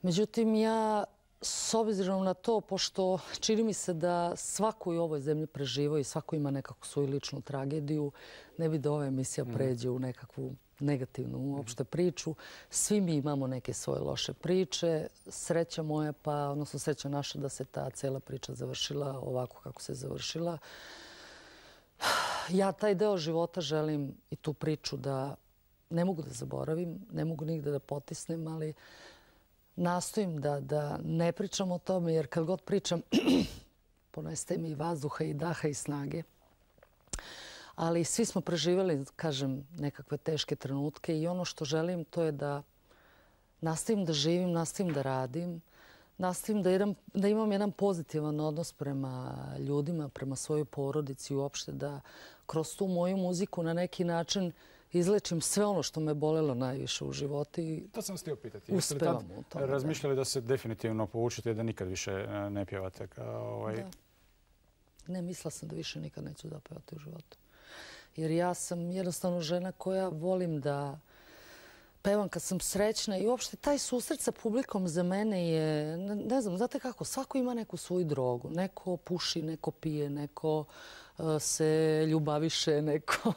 Međutim, ja s obzirom na to, pošto čini mi se da svako u ovoj zemlji preživa i svako ima nekakvu svoju ličnu tragediju, ne bi da ova emisija pređe u nekakvu negativnu uopšte priču. Svi mi imamo neke svoje loše priče. Sreća moja, pa odnosno sreća naša da se ta cela priča završila ovako kako se završila. Ja taj deo života želim i tu priču da ne mogu da zaboravim, ne mogu nigde da potisnem, ali nastojim da, da ne pričam o tome, jer kad god pričam ponestaje mi i vazduha i daha i snage. Ali svi smo preživjeli, kažem, nekakve teške trenutke i ono što želim to je da nastavim da živim, nastavim da radim, nastavim da, jedan, da imam jedan pozitivan odnos prema ljudima, prema svojoj porodici i uopšte da kroz tu moju muziku na neki način izlečim sve ono što me bolelo najviše u životu i to sam htio pitati. uspevam u tome. Razmišljali da se definitivno povučete i da nikad više ne pjevate? Kao ovaj... Da. Ne, mislila sam da više nikad neću zapevati u životu. Jer ja sam jednostavno žena koja volim da pevam kad sam srećna i uopšte taj susret sa publikom za mene je, ne, ne znam, znate kako, svako ima neku svoju drogu. Neko puši, neko pije, neko uh, se ljubaviše, neko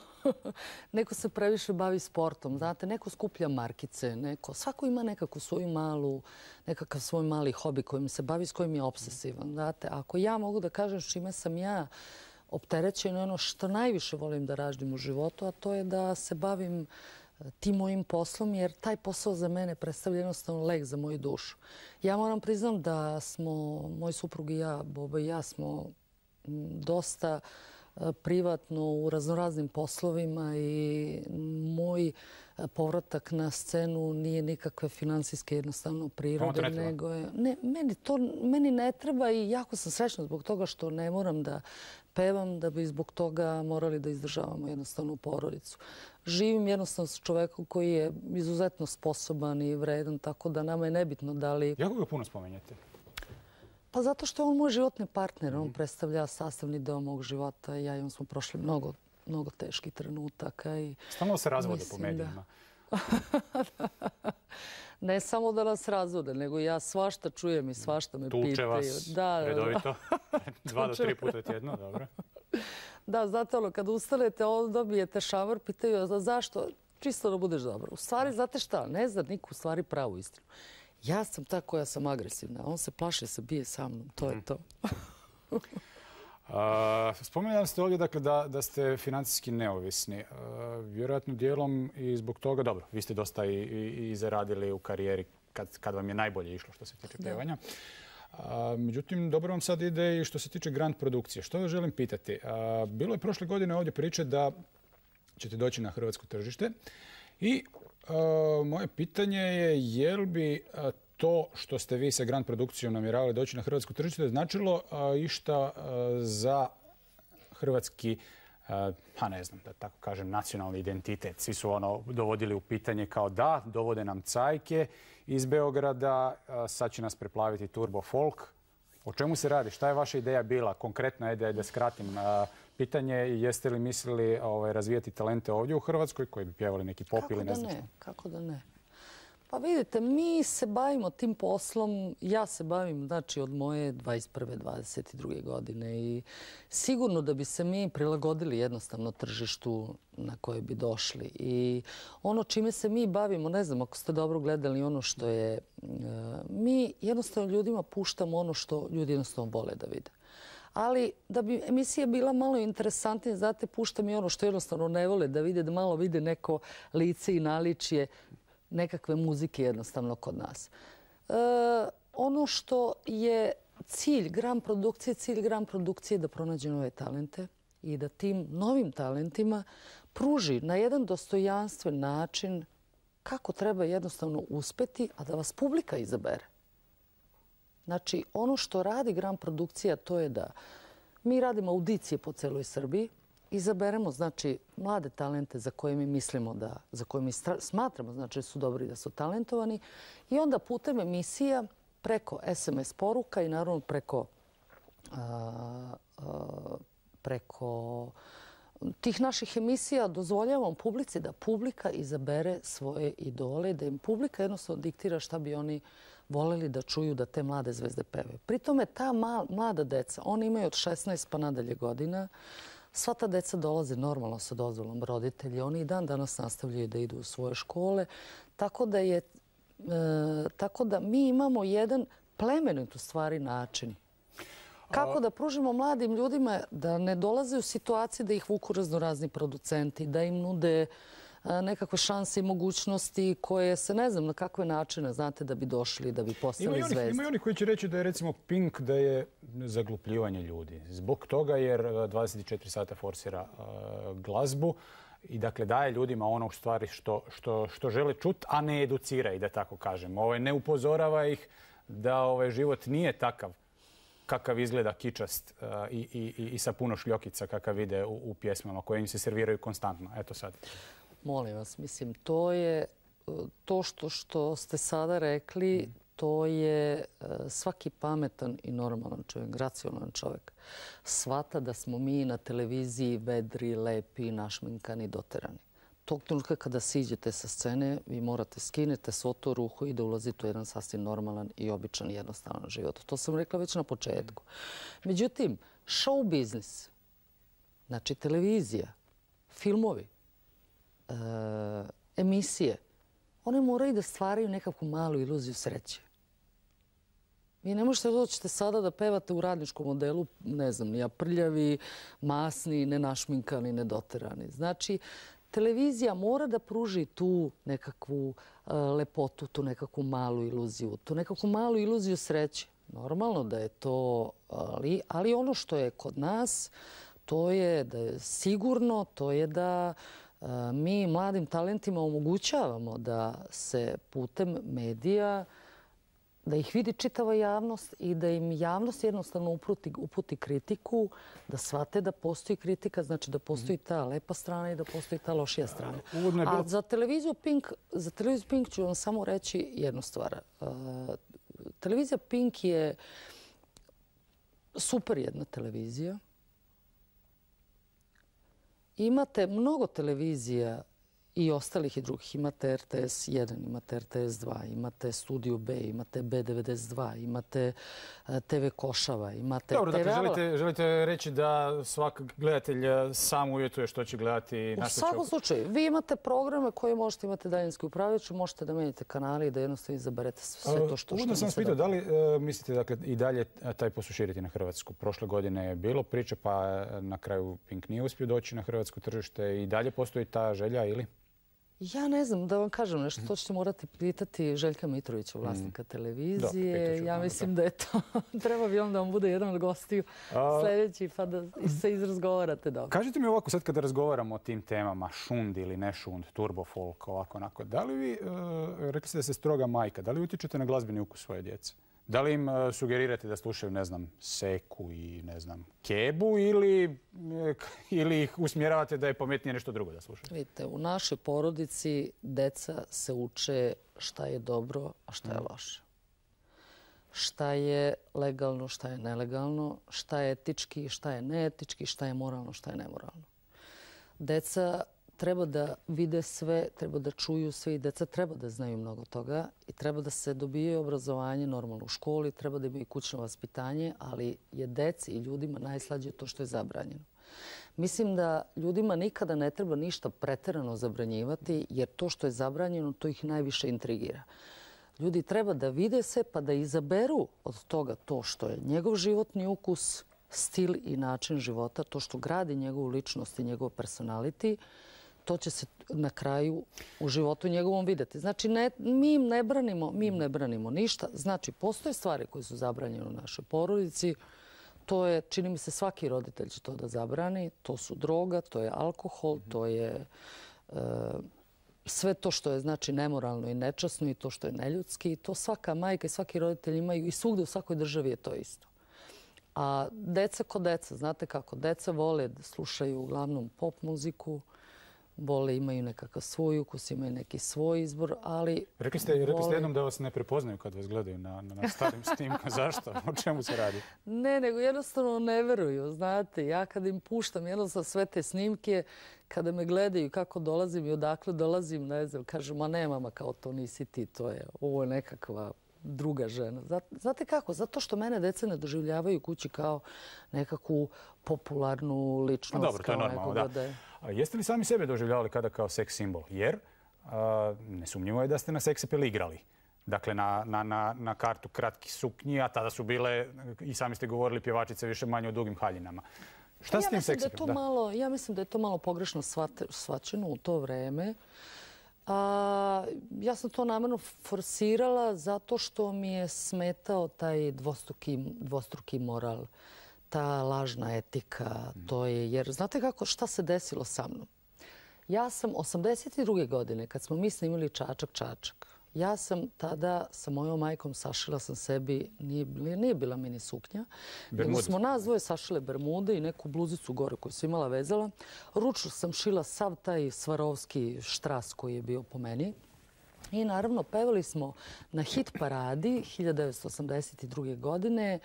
neko se previše bavi sportom, znate, neko skuplja markice, neko, svako ima nekakvu svoju malu, nekakav svoj mali hobi kojim se bavi, s kojim je obsesivan, znate. Ako ja mogu da kažem s čime sam ja opterećena, ono što najviše volim da radim u životu, a to je da se bavim tim mojim poslom, jer taj posao za mene predstavlja jednostavno lek za moju dušu. Ja moram priznam da smo, moj suprug i ja, Boba i ja, smo dosta privatno u raznoraznim poslovima i moj povratak na scenu nije nikakve finansijske jednostavno prirode, nego je... Ne, meni to meni ne treba i jako sam srećna zbog toga što ne moram da pevam, da bi zbog toga morali da izdržavamo jednostavno porodicu. Živim jednostavno s čovekom koji je izuzetno sposoban i vredan, tako da nama je nebitno da li... Jako ga puno spomenjate? Pa zato što je on moj životni partner. On predstavlja sastavni deo mog života. Ja i on smo prošli mnogo, mnogo teških trenutaka. I stalno se razvode po medijima. Ne samo da nas razvode, nego ja svašta čujem i svašta me pitaju. Tuče vas redovito? Dva do tri puta tjedno, dobro. Da, znate ono, kad ustanete, onda dobijete šamar, pitaju zašto? Čisto da budeš dobro. U stvari, znate šta? Ne zna niko u stvari pravu istinu. Ja sam ta koja sam agresivna. On se plaše, se bije sa mnom. To je to. Spomenuli ste ovdje dakle, da, da ste financijski neovisni. Vjerojatno dijelom i zbog toga, dobro, vi ste dosta i, i, i zaradili u karijeri kad, kad vam je najbolje išlo što se tiče pjevanja. Međutim, dobro vam sad ide i što se tiče grand produkcije. Što vas želim pitati? A, bilo je prošle godine ovdje priče da ćete doći na hrvatsko tržište i a, moje pitanje je je li bi a, to što ste vi sa grand produkcijom namjeravali doći na hrvatsko tržište značilo a, išta a, za hrvatski, a, pa ne znam da tako kažem, nacionalni identitet. Svi su ono dovodili u pitanje kao da, dovode nam cajke iz Beograda, a, sad će nas preplaviti turbo folk. O čemu se radi? Šta je vaša ideja bila? Konkretna ideja, da skratim a, pitanje, jeste li mislili ovaj, razvijati talente ovdje u Hrvatskoj koji bi pjevali neki pop ili ne znam što? Kako da ne? Pa vidite, mi se bavimo tim poslom, ja se bavim znači od moje dvadeset prve dvadeset druge godine i sigurno da bi se mi prilagodili jednostavno tržištu na koje bi došli. I ono čime se mi bavimo, ne znam ako ste dobro gledali ono što je, mi jednostavno ljudima puštamo ono što ljudi jednostavno vole da vide. Ali da bi emisija bila malo interesantnija, znate, puštam i ono što jednostavno ne vole da vide, da malo vide neko lice i naličje nekakve muzike jednostavno kod nas. E, ono što je cilj grand produkcije, cilj grand produkcije je da pronađe nove talente i da tim novim talentima pruži na jedan dostojanstven način kako treba jednostavno uspeti, a da vas publika izabere. Znači, ono što radi grand produkcija to je da mi radimo audicije po celoj Srbiji, izaberemo znači mlade talente za koje mi mislimo da, za koje mi smatramo znači su dobri, da su talentovani i onda putem emisija preko es em es poruka i naravno preko a, a, preko tih naših emisija dozvoljavamo publici da publika izabere svoje idole, da im publika jednostavno diktira šta bi oni voleli da čuju da te mlade zvezde pevaju. Pri tome ta mlada deca, oni imaju od šesnaest pa nadalje godina, sva ta deca dolaze normalno sa dozvolom roditelja. Oni i dan danas nastavljaju da idu u svoje škole. Tako da, je, e, tako da mi imamo jedan plemenit u stvari način. Kako da pružimo mladim ljudima da ne dolaze u situaciju da ih vuku raznorazni producenti, da im nude nekakve šanse i mogućnosti koje se ne znam na kakve načine, znate, da bi došli, da bi postali zvezde. Ima i oni koji će reći da je recimo Pink da je zaglupljivanje ljudi. Zbog toga jer dvadeset četiri sata forsira uh, glazbu i dakle daje ljudima ono u stvari što, što, što žele čuti, a ne educira ih, da tako kažem. Ovaj, ne upozorava ih da ovaj život nije takav kakav izgleda kičast uh, i, i, i sa puno šljokica kakav ide u, u pjesmama koje im se serviraju konstantno. Eto sad. Molim vas, mislim, to je to što, što ste sada rekli, to je svaki pametan i normalan čovjek, racionalan čovjek. Shvata da smo mi na televiziji vedri, lepi, našminkani, doterani. Tog trenutka kada siđete sa scene, vi morate skinete svoto ruhu i da ulazite u jedan sasvim normalan i običan jednostavan život. To sam rekla već na početku. Međutim, show biznis, znači televizija, filmovi, emisije, one moraju da stvaraju nekakvu malu iluziju sreće. Vi ne možete doći sada da pevate u radničkom modelu, ne znam, ni prljavi, masni, nenašminkani, nedoterani. Znači, televizija mora da pruži tu nekakvu lepotu, tu nekakvu malu iluziju, tu nekakvu malu iluziju sreće. Normalno da je to, ali, ali ono što je kod nas, to je da je sigurno, to je da mi mladim talentima omogućavamo da se putem medija, da ih vidi čitava javnost i da im javnost jednostavno uputi, uputi kritiku, da shvate da postoji kritika, znači da postoji ta lepa strana i da postoji ta lošija strana. A za televiziju Pink, za televiziju Pink ću vam samo reći jednu stvar. Televizija Pink je super jedna televizija. Imate mnogo televizija i ostalih i drugih. Imate R T S jedan, imate R T S dva, imate Studiju B, imate B devedeset dva, imate T V Košava, imate... Dobro, dakle, želite, želite reći da svak gledatelj sam uvjetuje što će gledati na U svakom slučaju, vi imate programe koje možete imati daljinski upravljač, možete da menjate kanali i da jednostavno izaberete sve to što... Uvodno sam vas pitao, da li uh, mislite dakle, i dalje taj posao širiti na Hrvatsku? Prošle godine je bilo priče, pa na kraju Pink nije uspio doći na hrvatsko tržište i dalje postoji ta želja ili? Ja ne znam, da vam kažem nešto, to ćete morati pitati Željka Mitrovića, vlasnika televizije. Ja mislim da je to, treba bi on da vam bude jedan od gostiju sljedeći, pa da se izrazgovarate dobro. Kažite mi ovako, sad kada razgovaramo o tim temama, šund ili ne šund, turbo folk, ovako, onako, da li vi, rekli ste da ste stroga majka, da li utječete na glazbeni ukus svoje djece? Da li im sugerirate da slušaju, ne znam, Seku i, ne znam, Kebu ili, ili ih usmjeravate da je pametnije nešto drugo da slušaju? Vidite, u našoj porodici deca se uče šta je dobro, a šta je loše. Šta je legalno, šta je nelegalno, šta je etički, šta je neetički, šta je moralno, šta je nemoralno. Deca treba da vide sve, treba da čuju sve i deca treba da znaju mnogo toga i treba da se dobije obrazovanje normalno u školi, treba da imaju kućno vaspitanje, ali je deci i ljudima najslađe to što je zabranjeno. Mislim da ljudima nikada ne treba ništa preterano zabranjivati, jer to što je zabranjeno, to ih najviše intrigira. Ljudi treba da vide se pa da izaberu od toga to što je njegov životni ukus, stil i način života, to što gradi njegovu ličnost i njegov personality, to će se na kraju u životu njegovom vidjeti. Znači, ne, mi, im ne branimo, mi im ne branimo ništa. Znači, postoje stvari koje su zabranjene u našoj porodici. To je, čini mi se, svaki roditelj će to da zabrani. To su droga, to je alkohol, to je e, sve to što je znači nemoralno i nečasno i to što je neljudski. I to svaka majka i svaki roditelj imaju i svugde u svakoj državi je to isto. A deca ko deca, znate kako, deca vole da slušaju uglavnom pop muziku, vole, imaju nekakav svoj ukus, imaju neki svoj izbor, ali... Rekli ste, rekli ste jednom da vas ne prepoznaju kad vas gledaju na, na, na starim snimkama. Zašto? O čemu se radi? Ne, nego jednostavno ne veruju, znate. Ja kad im puštam jednostavno sve te snimke, kada me gledaju kako dolazim i odakle dolazim, ne znam, kažu, ma ne mama, kao to nisi ti, to je, ovo je nekakva druga žena. Znate kako? Zato što mene deca ne doživljavaju kući kao nekakvu popularnu ličnost. No, dobro, to je normalno, da. da je... A jeste li sami sebe doživljavali kada kao seks simbol? Jer a, nesumnjivo je da ste na seksapel igrali. Dakle, na, na, na, na kartu kratki suknji, a tada su bile, i sami ste govorili, pjevačice više manje u dugim haljinama. Šta s tim seksapelom? Da ja mislim da je to malo pogrešno shvaćeno u to vreme. A, ja sam to namjerno forsirala zato što mi je smetao taj dvostruki, dvostruki moral, ta lažna etika. To je, jer znate kako, šta se desilo sa mnom? Ja sam osamdeset druge godine, kad smo mi snimili Čačak, Čačak, ja sam tada sa mojom majkom sašila sam sebi, nije, nije bila mini suknja, nego smo nas dvoje sašile bermude i neku bluzicu gore koju sam imala vezala. Ručno sam šila sav taj svarovski štras koji je bio po meni. I naravno pevali smo na hit paradi hiljadu devetsto osamdeset druge godine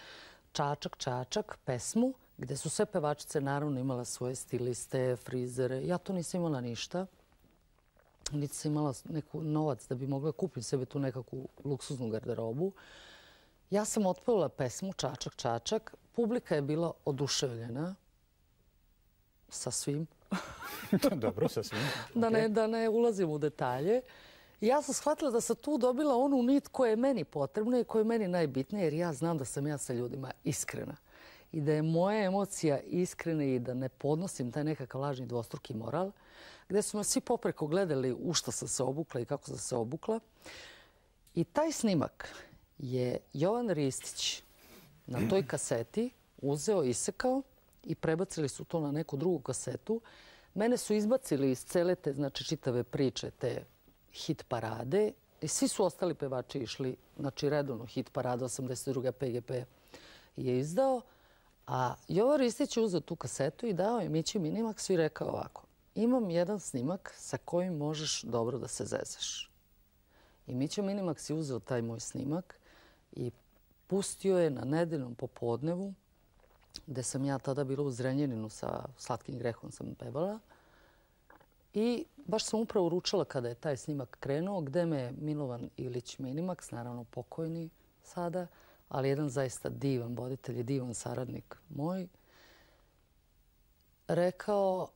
Čačak, Čačak, pesmu, gde su sve pevačice naravno imala svoje stiliste, frizere. Ja to nisam imala ništa. Niti sam imala neku novac da bi mogla kupiti sebe tu nekakvu luksuznu garderobu. Ja sam otpevala pesmu Čačak, Čačak. Publika je bila oduševljena sa svim. Dobro, sasvim. Da ne, da ne ulazim u detalje. Ja sam shvatila da sam tu dobila onu nit koja je meni potrebna i koja je meni najbitnija, jer ja znam da sam ja sa ljudima iskrena. I da je moja emocija iskrena i da ne podnosim taj nekakav lažni dvostruki moral, gdje su me svi popreko gledali u što sam se obukla i kako sam se obukla. I taj snimak je Jovan Ristić na toj kaseti uzeo, isekao i prebacili su to na neku drugu kasetu. Mene su izbacili iz cele te, znači, čitave priče, te hit parade i svi su ostali pevači išli, znači redovno hit parada osamdeset druge P G P je izdao, a Jovan Ristić je uzeo tu kasetu i dao je Mići Minimax i rekao ovako: imam jedan snimak sa kojim možeš dobro da se zezaš. I Mića Minimax je uzeo taj moj snimak i pustio je na nedeljnom popodnevu, gde sam ja tada bila u Zrenjaninu sa Slatkim grehom sam pevala. I baš sam upravo ručala kada je taj snimak krenuo, gde me je Milovan Ilić Minimax, naravno pokojni sada, ali jedan zaista divan voditelj i divan saradnik moj, rekao: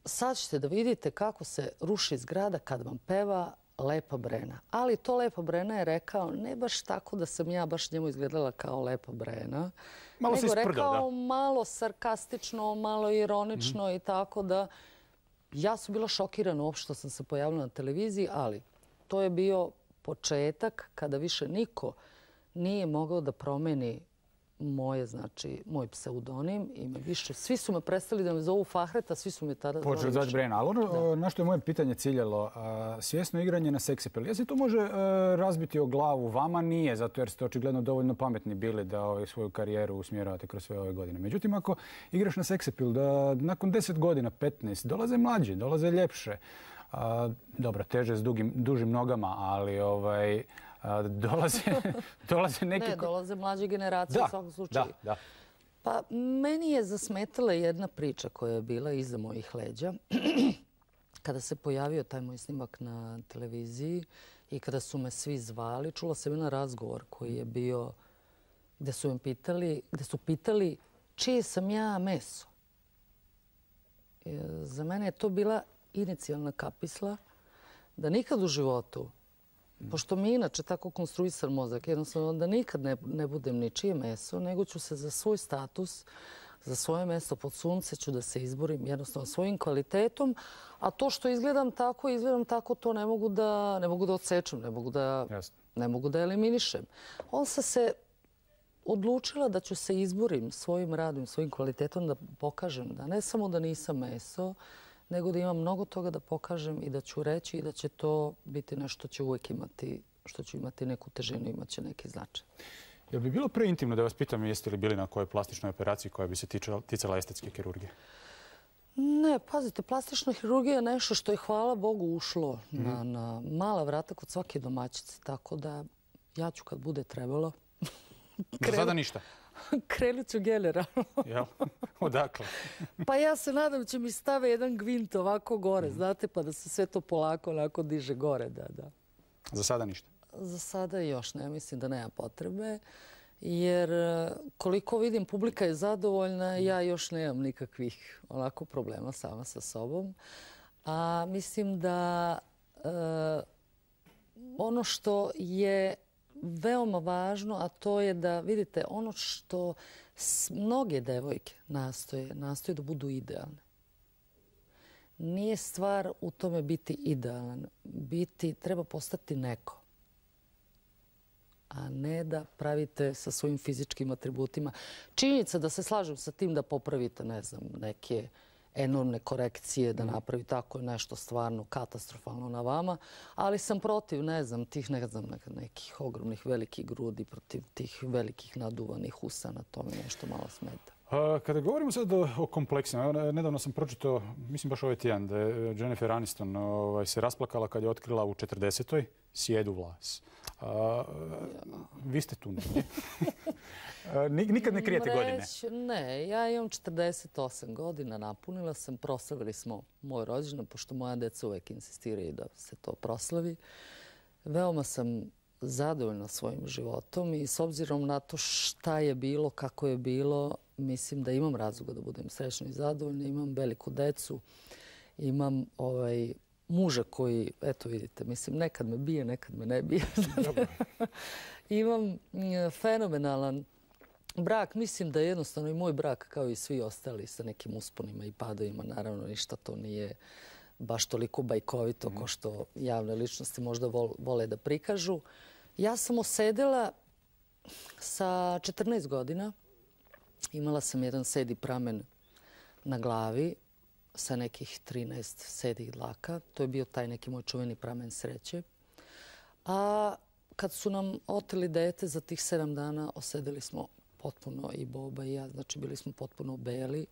sad ćete da vidite kako se ruši zgrada kad vam peva Lepa Brena. Ali to Lepa Brena je rekao ne baš tako da sam ja baš njemu izgledala kao Lepa Brena, malo nego isprdao, rekao da. malo sarkastično, malo ironično mm-hmm. i tako da ja sam bila šokirana uopšte što sam se pojavila na televiziji, ali to je bio početak kada više niko nije mogao da promeni moje, znači, moj pseudonim i me više, svi su me prestali da me zovu Fahreta, svi su me tada zvali. Počeli zvati Brena, ali ono na što je moje pitanje ciljalo, svjesno igranje na seksapil, je se to može razbiti o glavu? Vama nije, zato jer ste očigledno dovoljno pametni bili da svoju karijeru usmjeravate kroz sve ove godine. Međutim, ako igraš na seksapil, da nakon deset godina, petnaest, dolaze mlađi, dolaze ljepše, dobro, teže s dužim nogama, ali ovaj... Dolaze, dolaze neki... Ne, dolaze mlađe generacije u svakom slučaju. Da, da. Pa meni je zasmetala jedna priča koja je bila iza mojih leđa. Kada se pojavio taj moj snimak na televiziji i kada su me svi zvali, čula sam jedan razgovor koji je bio gdje su me pitali, gdje su pitali čije sam ja meso. Za mene je to bila inicijalna kapisla da nikad u životu, pošto mi inače tako konstruisan mozak, jednostavno da nikad ne, ne budem ničije meso, nego ću se za svoj status, za svoje mesto pod sunce ću da se izborim jednostavno svojim kvalitetom, a to što izgledam tako, izgledam tako, to ne mogu da, ne mogu da odsečem, ne mogu da, ne mogu da eliminišem. On se se odlučila da ću se izborim svojim radom, svojim kvalitetom da pokažem da ne samo da nisam meso, nego da imam mnogo toga da pokažem i da ću reći i da će to biti nešto što će uvijek imati, što ću imati neku težinu, imat će neki značaj. Jel bi bilo preintimno da vas pitam jeste li bili na kojoj plastičnoj operaciji koja bi se ticala estetske kirurgije? Ne, pazite, plastična hirurgija je nešto što je, hvala Bogu, ušlo mm-hmm. na, na mala vrata kod svake domaćice, tako da ja ću kad bude trebalo... Za sada ništa? Krenut ću generalno. Jel? Odakle? Pa ja se nadam da će mi stave jedan gvint ovako gore, mm. znate, pa da se sve to polako onako diže gore. Da, da. Za sada ništa? Za sada još ne, mislim da nema potrebe. Jer koliko vidim, publika je zadovoljna, ja još nemam nikakvih onako problema sama sa sobom. A mislim da e, ono što je veoma važno, a to je da vidite ono što mnoge devojke nastoje, nastoje da budu idealne. Nije stvar u tome biti idealan. Biti, treba postati neko. A ne da pravite sa svojim fizičkim atributima. Činjenica da se slažem sa tim da popravite, ne znam, neke enormne korekcije, da napravi tako nešto stvarno katastrofalno na vama, ali sam protiv, ne znam, tih ne znam, nekih ogromnih velikih grudi, protiv tih velikih naduvanih usana, to mi nešto malo smeta. Kada govorimo sad o kompleksima, nedavno sam pročitao, mislim baš ovaj tjedan, da je Jennifer Aniston ovaj, se rasplakala kad je otkrila u četrdesetoj sjedu vlas. A, vi ste tu negdje. Nikad ne krijete godine? Ne, ja imam četrdeset osam godina, napunila sam, proslavili smo moj rođendan, pošto moja deca uvek insistiraju da se to proslavi. Veoma sam zadovoljna svojim životom i s obzirom na to šta je bilo, kako je bilo, mislim da imam razloga da budem srećna i zadovoljna. Imam veliku decu, imam ovaj, muža koji, eto vidite, mislim, nekad me bije, nekad me ne bije. Imam fenomenalan brak. Mislim da je jednostavno i moj brak, kao i svi ostali, sa nekim usponima i padovima. Naravno, ništa to nije baš toliko bajkovito kao što javne ličnosti možda vole da prikažu. Ja sam osedela sa četrnaest godina. Imala sam jedan sedi pramen na glavi sa nekih trinaest sedih dlaka. To je bio taj neki moj čuveni pramen sreće. A kad su nam oteli dete za tih sedam dana, osedeli smo potpuno i Boba i ja. Znači, bili smo potpuno beli.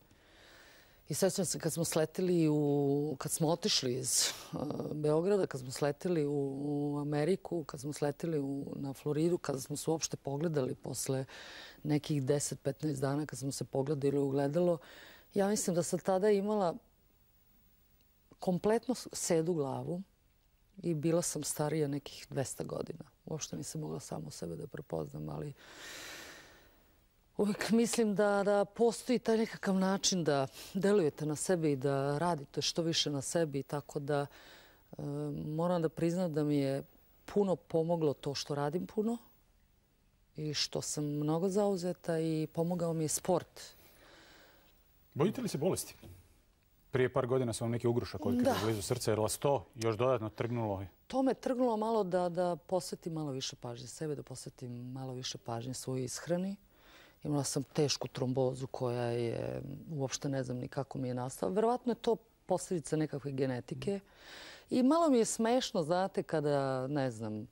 I sećam se kad smo sleteli u, kad smo otišli iz uh, Beograda, kad smo sleteli u, u Ameriku, kad smo sleteli u, na Floridu, kada smo se uopšte pogledali posle nekih deset petnaest dana, kad smo se pogledali u gledalo, ja mislim da sam tada imala kompletno sedu glavu i bila sam starija nekih dvesta godina. Uopšte nisam mogla samo sebe da prepoznam, ali uvijek mislim da, da postoji taj nekakav način da delujete na sebe i da radite što više na sebi. Tako da e, moram da priznam da mi je puno pomoglo to što radim puno i što sam mnogo zauzeta i pomogao mi je sport. Bojite li se bolesti? Prije par godina sam vam neki ugrušak otkrila blizu srca, jer vas to još dodatno trgnulo? To me trgnulo malo da, da posvetim malo više pažnje sebe, da posvetim malo više pažnje svojoj ishrani. Imala sam tešku trombozu koja je, uopšte ne znam ni kako mi je nastala. Verovatno je to posljedica nekakve genetike. I malo mi je smešno, znate, kada, ne znam,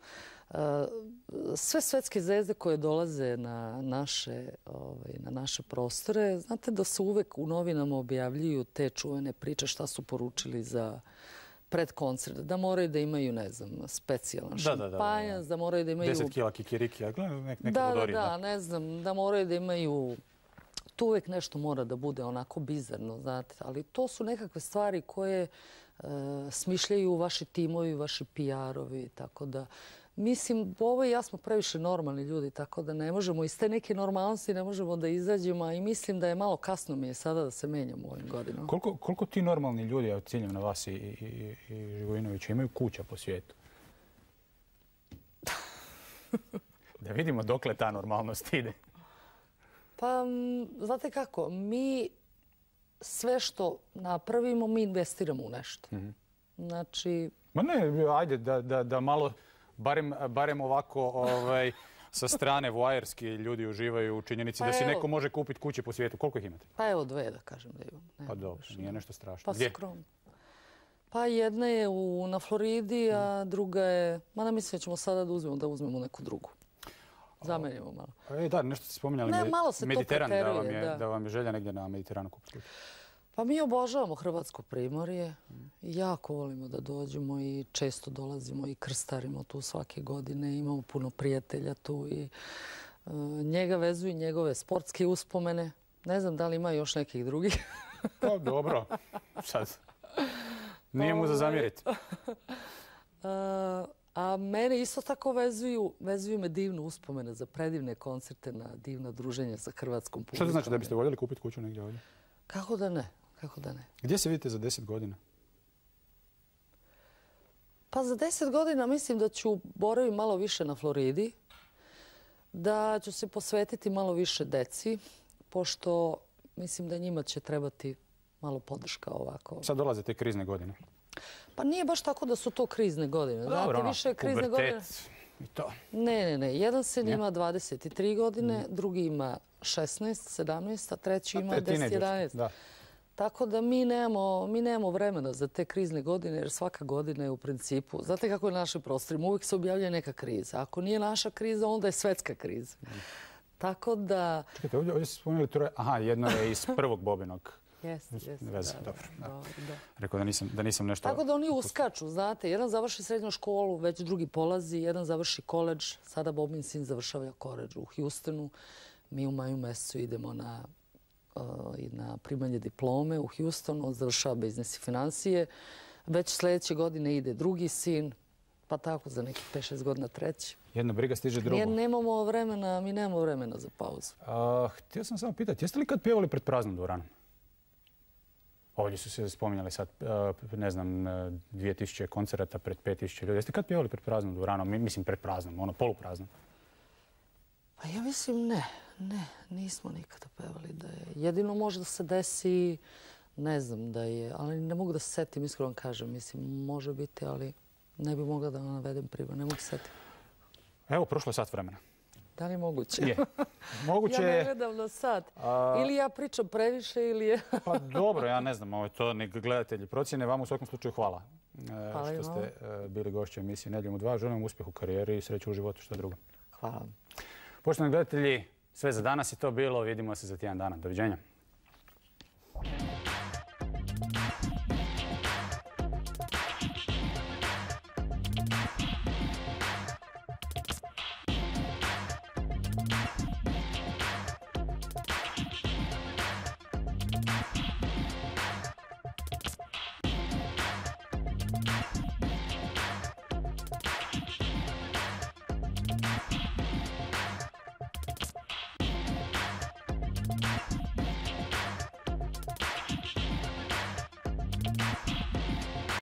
sve svetske zvezde koje dolaze na naše, ovaj, na naše prostore, znate da se uvek u novinama objavljuju te čuvene priče šta su poručili za pred koncert, da moraju da imaju, ne znam, specijalan šampanjac, da moraju da imaju... Deset kila kikirikija, neka da, da, da, ne znam, da moraju da imaju... Tu uvijek nešto mora da bude onako bizarno, znate, ali to su nekakve stvari koje smišljaju vaši timovi, vaši P R-ovi, tako da... Mislim, ovo i ja smo previše normalni ljudi, tako da ne možemo, iz te neke normalnosti ne možemo da izađemo i mislim da je malo kasno mi je sada da se menjamo u ovim godinama. Koliko, koliko ti normalni ljudi, ja ciljam na vas i, i, i Živojinovića, imaju kuća po svijetu? Da vidimo dokle ta normalnost ide. Pa, znate kako, mi sve što napravimo, mi investiramo u nešto. Mm-hmm. Znači... Ma ne, ajde da, da, da malo... Barem, barem ovako ovaj, sa strane voajerski ljudi uživaju u činjenici pa da si evo, neko može kupiti kuće po svijetu. Koliko ih imate? Pa evo dve da kažem da imam. Ne, pa dobro, nije nešto strašno. Pa skromno. Pa jedna je u, na Floridi, a druga je... Ma ne mislim da ćemo sada da uzmemo, da uzmemo neku drugu. Zamenimo malo. E, da, nešto ste spominjali. Ne, malo se Mediteran, to preteruje, da vam je, da. da vam je želja negdje na Mediteranu kupiti. Pa mi obožavamo Hrvatsko primorje. Jako volimo da dođemo i često dolazimo i krstarimo tu svake godine. Imamo puno prijatelja tu i uh, njega vezuju njegove sportske uspomene. Ne znam da li ima još nekih drugih. Pa dobro, sad. Nije mu za zamjeriti. uh, a mene isto tako vezuju, vezuju me divne uspomene za predivne koncerte na divna druženja sa hrvatskom publikom. Što to znači da biste voljeli kupiti kuću negdje ovdje? Kako da ne? Kako da ne? Gdje se vidite za deset godina? Pa za deset godina mislim da ću boraviti malo više na Floridi, da ću se posvetiti malo više deci, pošto mislim da njima će trebati malo podrška ovako. Sad dolaze te krizne godine. Pa nije baš tako da su to krizne godine. Dobro, znate, ono, više krizne godine... i to. Ne, ne, ne. Jedan sin ima dvadeset tri godine, mm. drugi ima šesnaest, sedamnaest, a treći ima deset, jedanaest. Da. Tako da mi nemamo, mi nemamo vremena za te krizne godine, jer svaka godina je u principu... Znate kako je na našim prostorima? Uvijek se objavlja neka kriza. Ako nije naša kriza, onda je svetska kriza. Mm. Tako da... Čekajte, ovdje, ovdje ste spomenuli troje... Aha, jedno je iz prvog Bobinog. Jeste, jeste. Veze, da, dobro. Da. Da, da. Rekao da nisam, da nisam nešto... Tako da oni uskaču, znate. Jedan završi srednju školu, već drugi polazi, jedan završi koledž. Sada Bobin sin završava koledž u Houstonu. Mi u maju mjesecu idemo na, uh, na primanje diplome u Houstonu. On završava biznis i financije. Već sljedeće godine ide drugi sin. pa tako za nekih pet šest godina treći. Jedna briga stiže drugo. Nemamo vremena, mi nemamo vremena za pauzu. Htio sam samo pitati, jeste li kad pjevali pred praznom dvoranom? Ovdje su se spominjali sad, ne znam, dvije tisuće koncerata pred pet tisuća ljudi. Jeste kad pjevali pred praznom dvoranom? Mislim pred praznom, ono polupraznom. Pa ja mislim ne, ne, nismo nikada pevali da je. Jedino možda se desi, ne znam da je, ali ne mogu da se setim, iskreno kažem. Mislim, može biti, ali ne bi mogla da vam navedem primjer, ne mogu se setiti. Evo, prošlo je sat vremena. Da li je moguće? Je. Moguće ja je... ne gledam na sat. Ili ja pričam previše ili je... Pa dobro, ja ne znam, ovo je to nek gledatelji procjene. Vama u svakom slučaju hvala. Hvala što ste bili gošći emisije Nedjeljom u dva. Želim vam uspjeh u karijeri i sreću u životu, što drugo. Hvala. Poštovani gledatelji, sve za danas je to bilo. Vidimo se za tjedan dana. Doviđenja.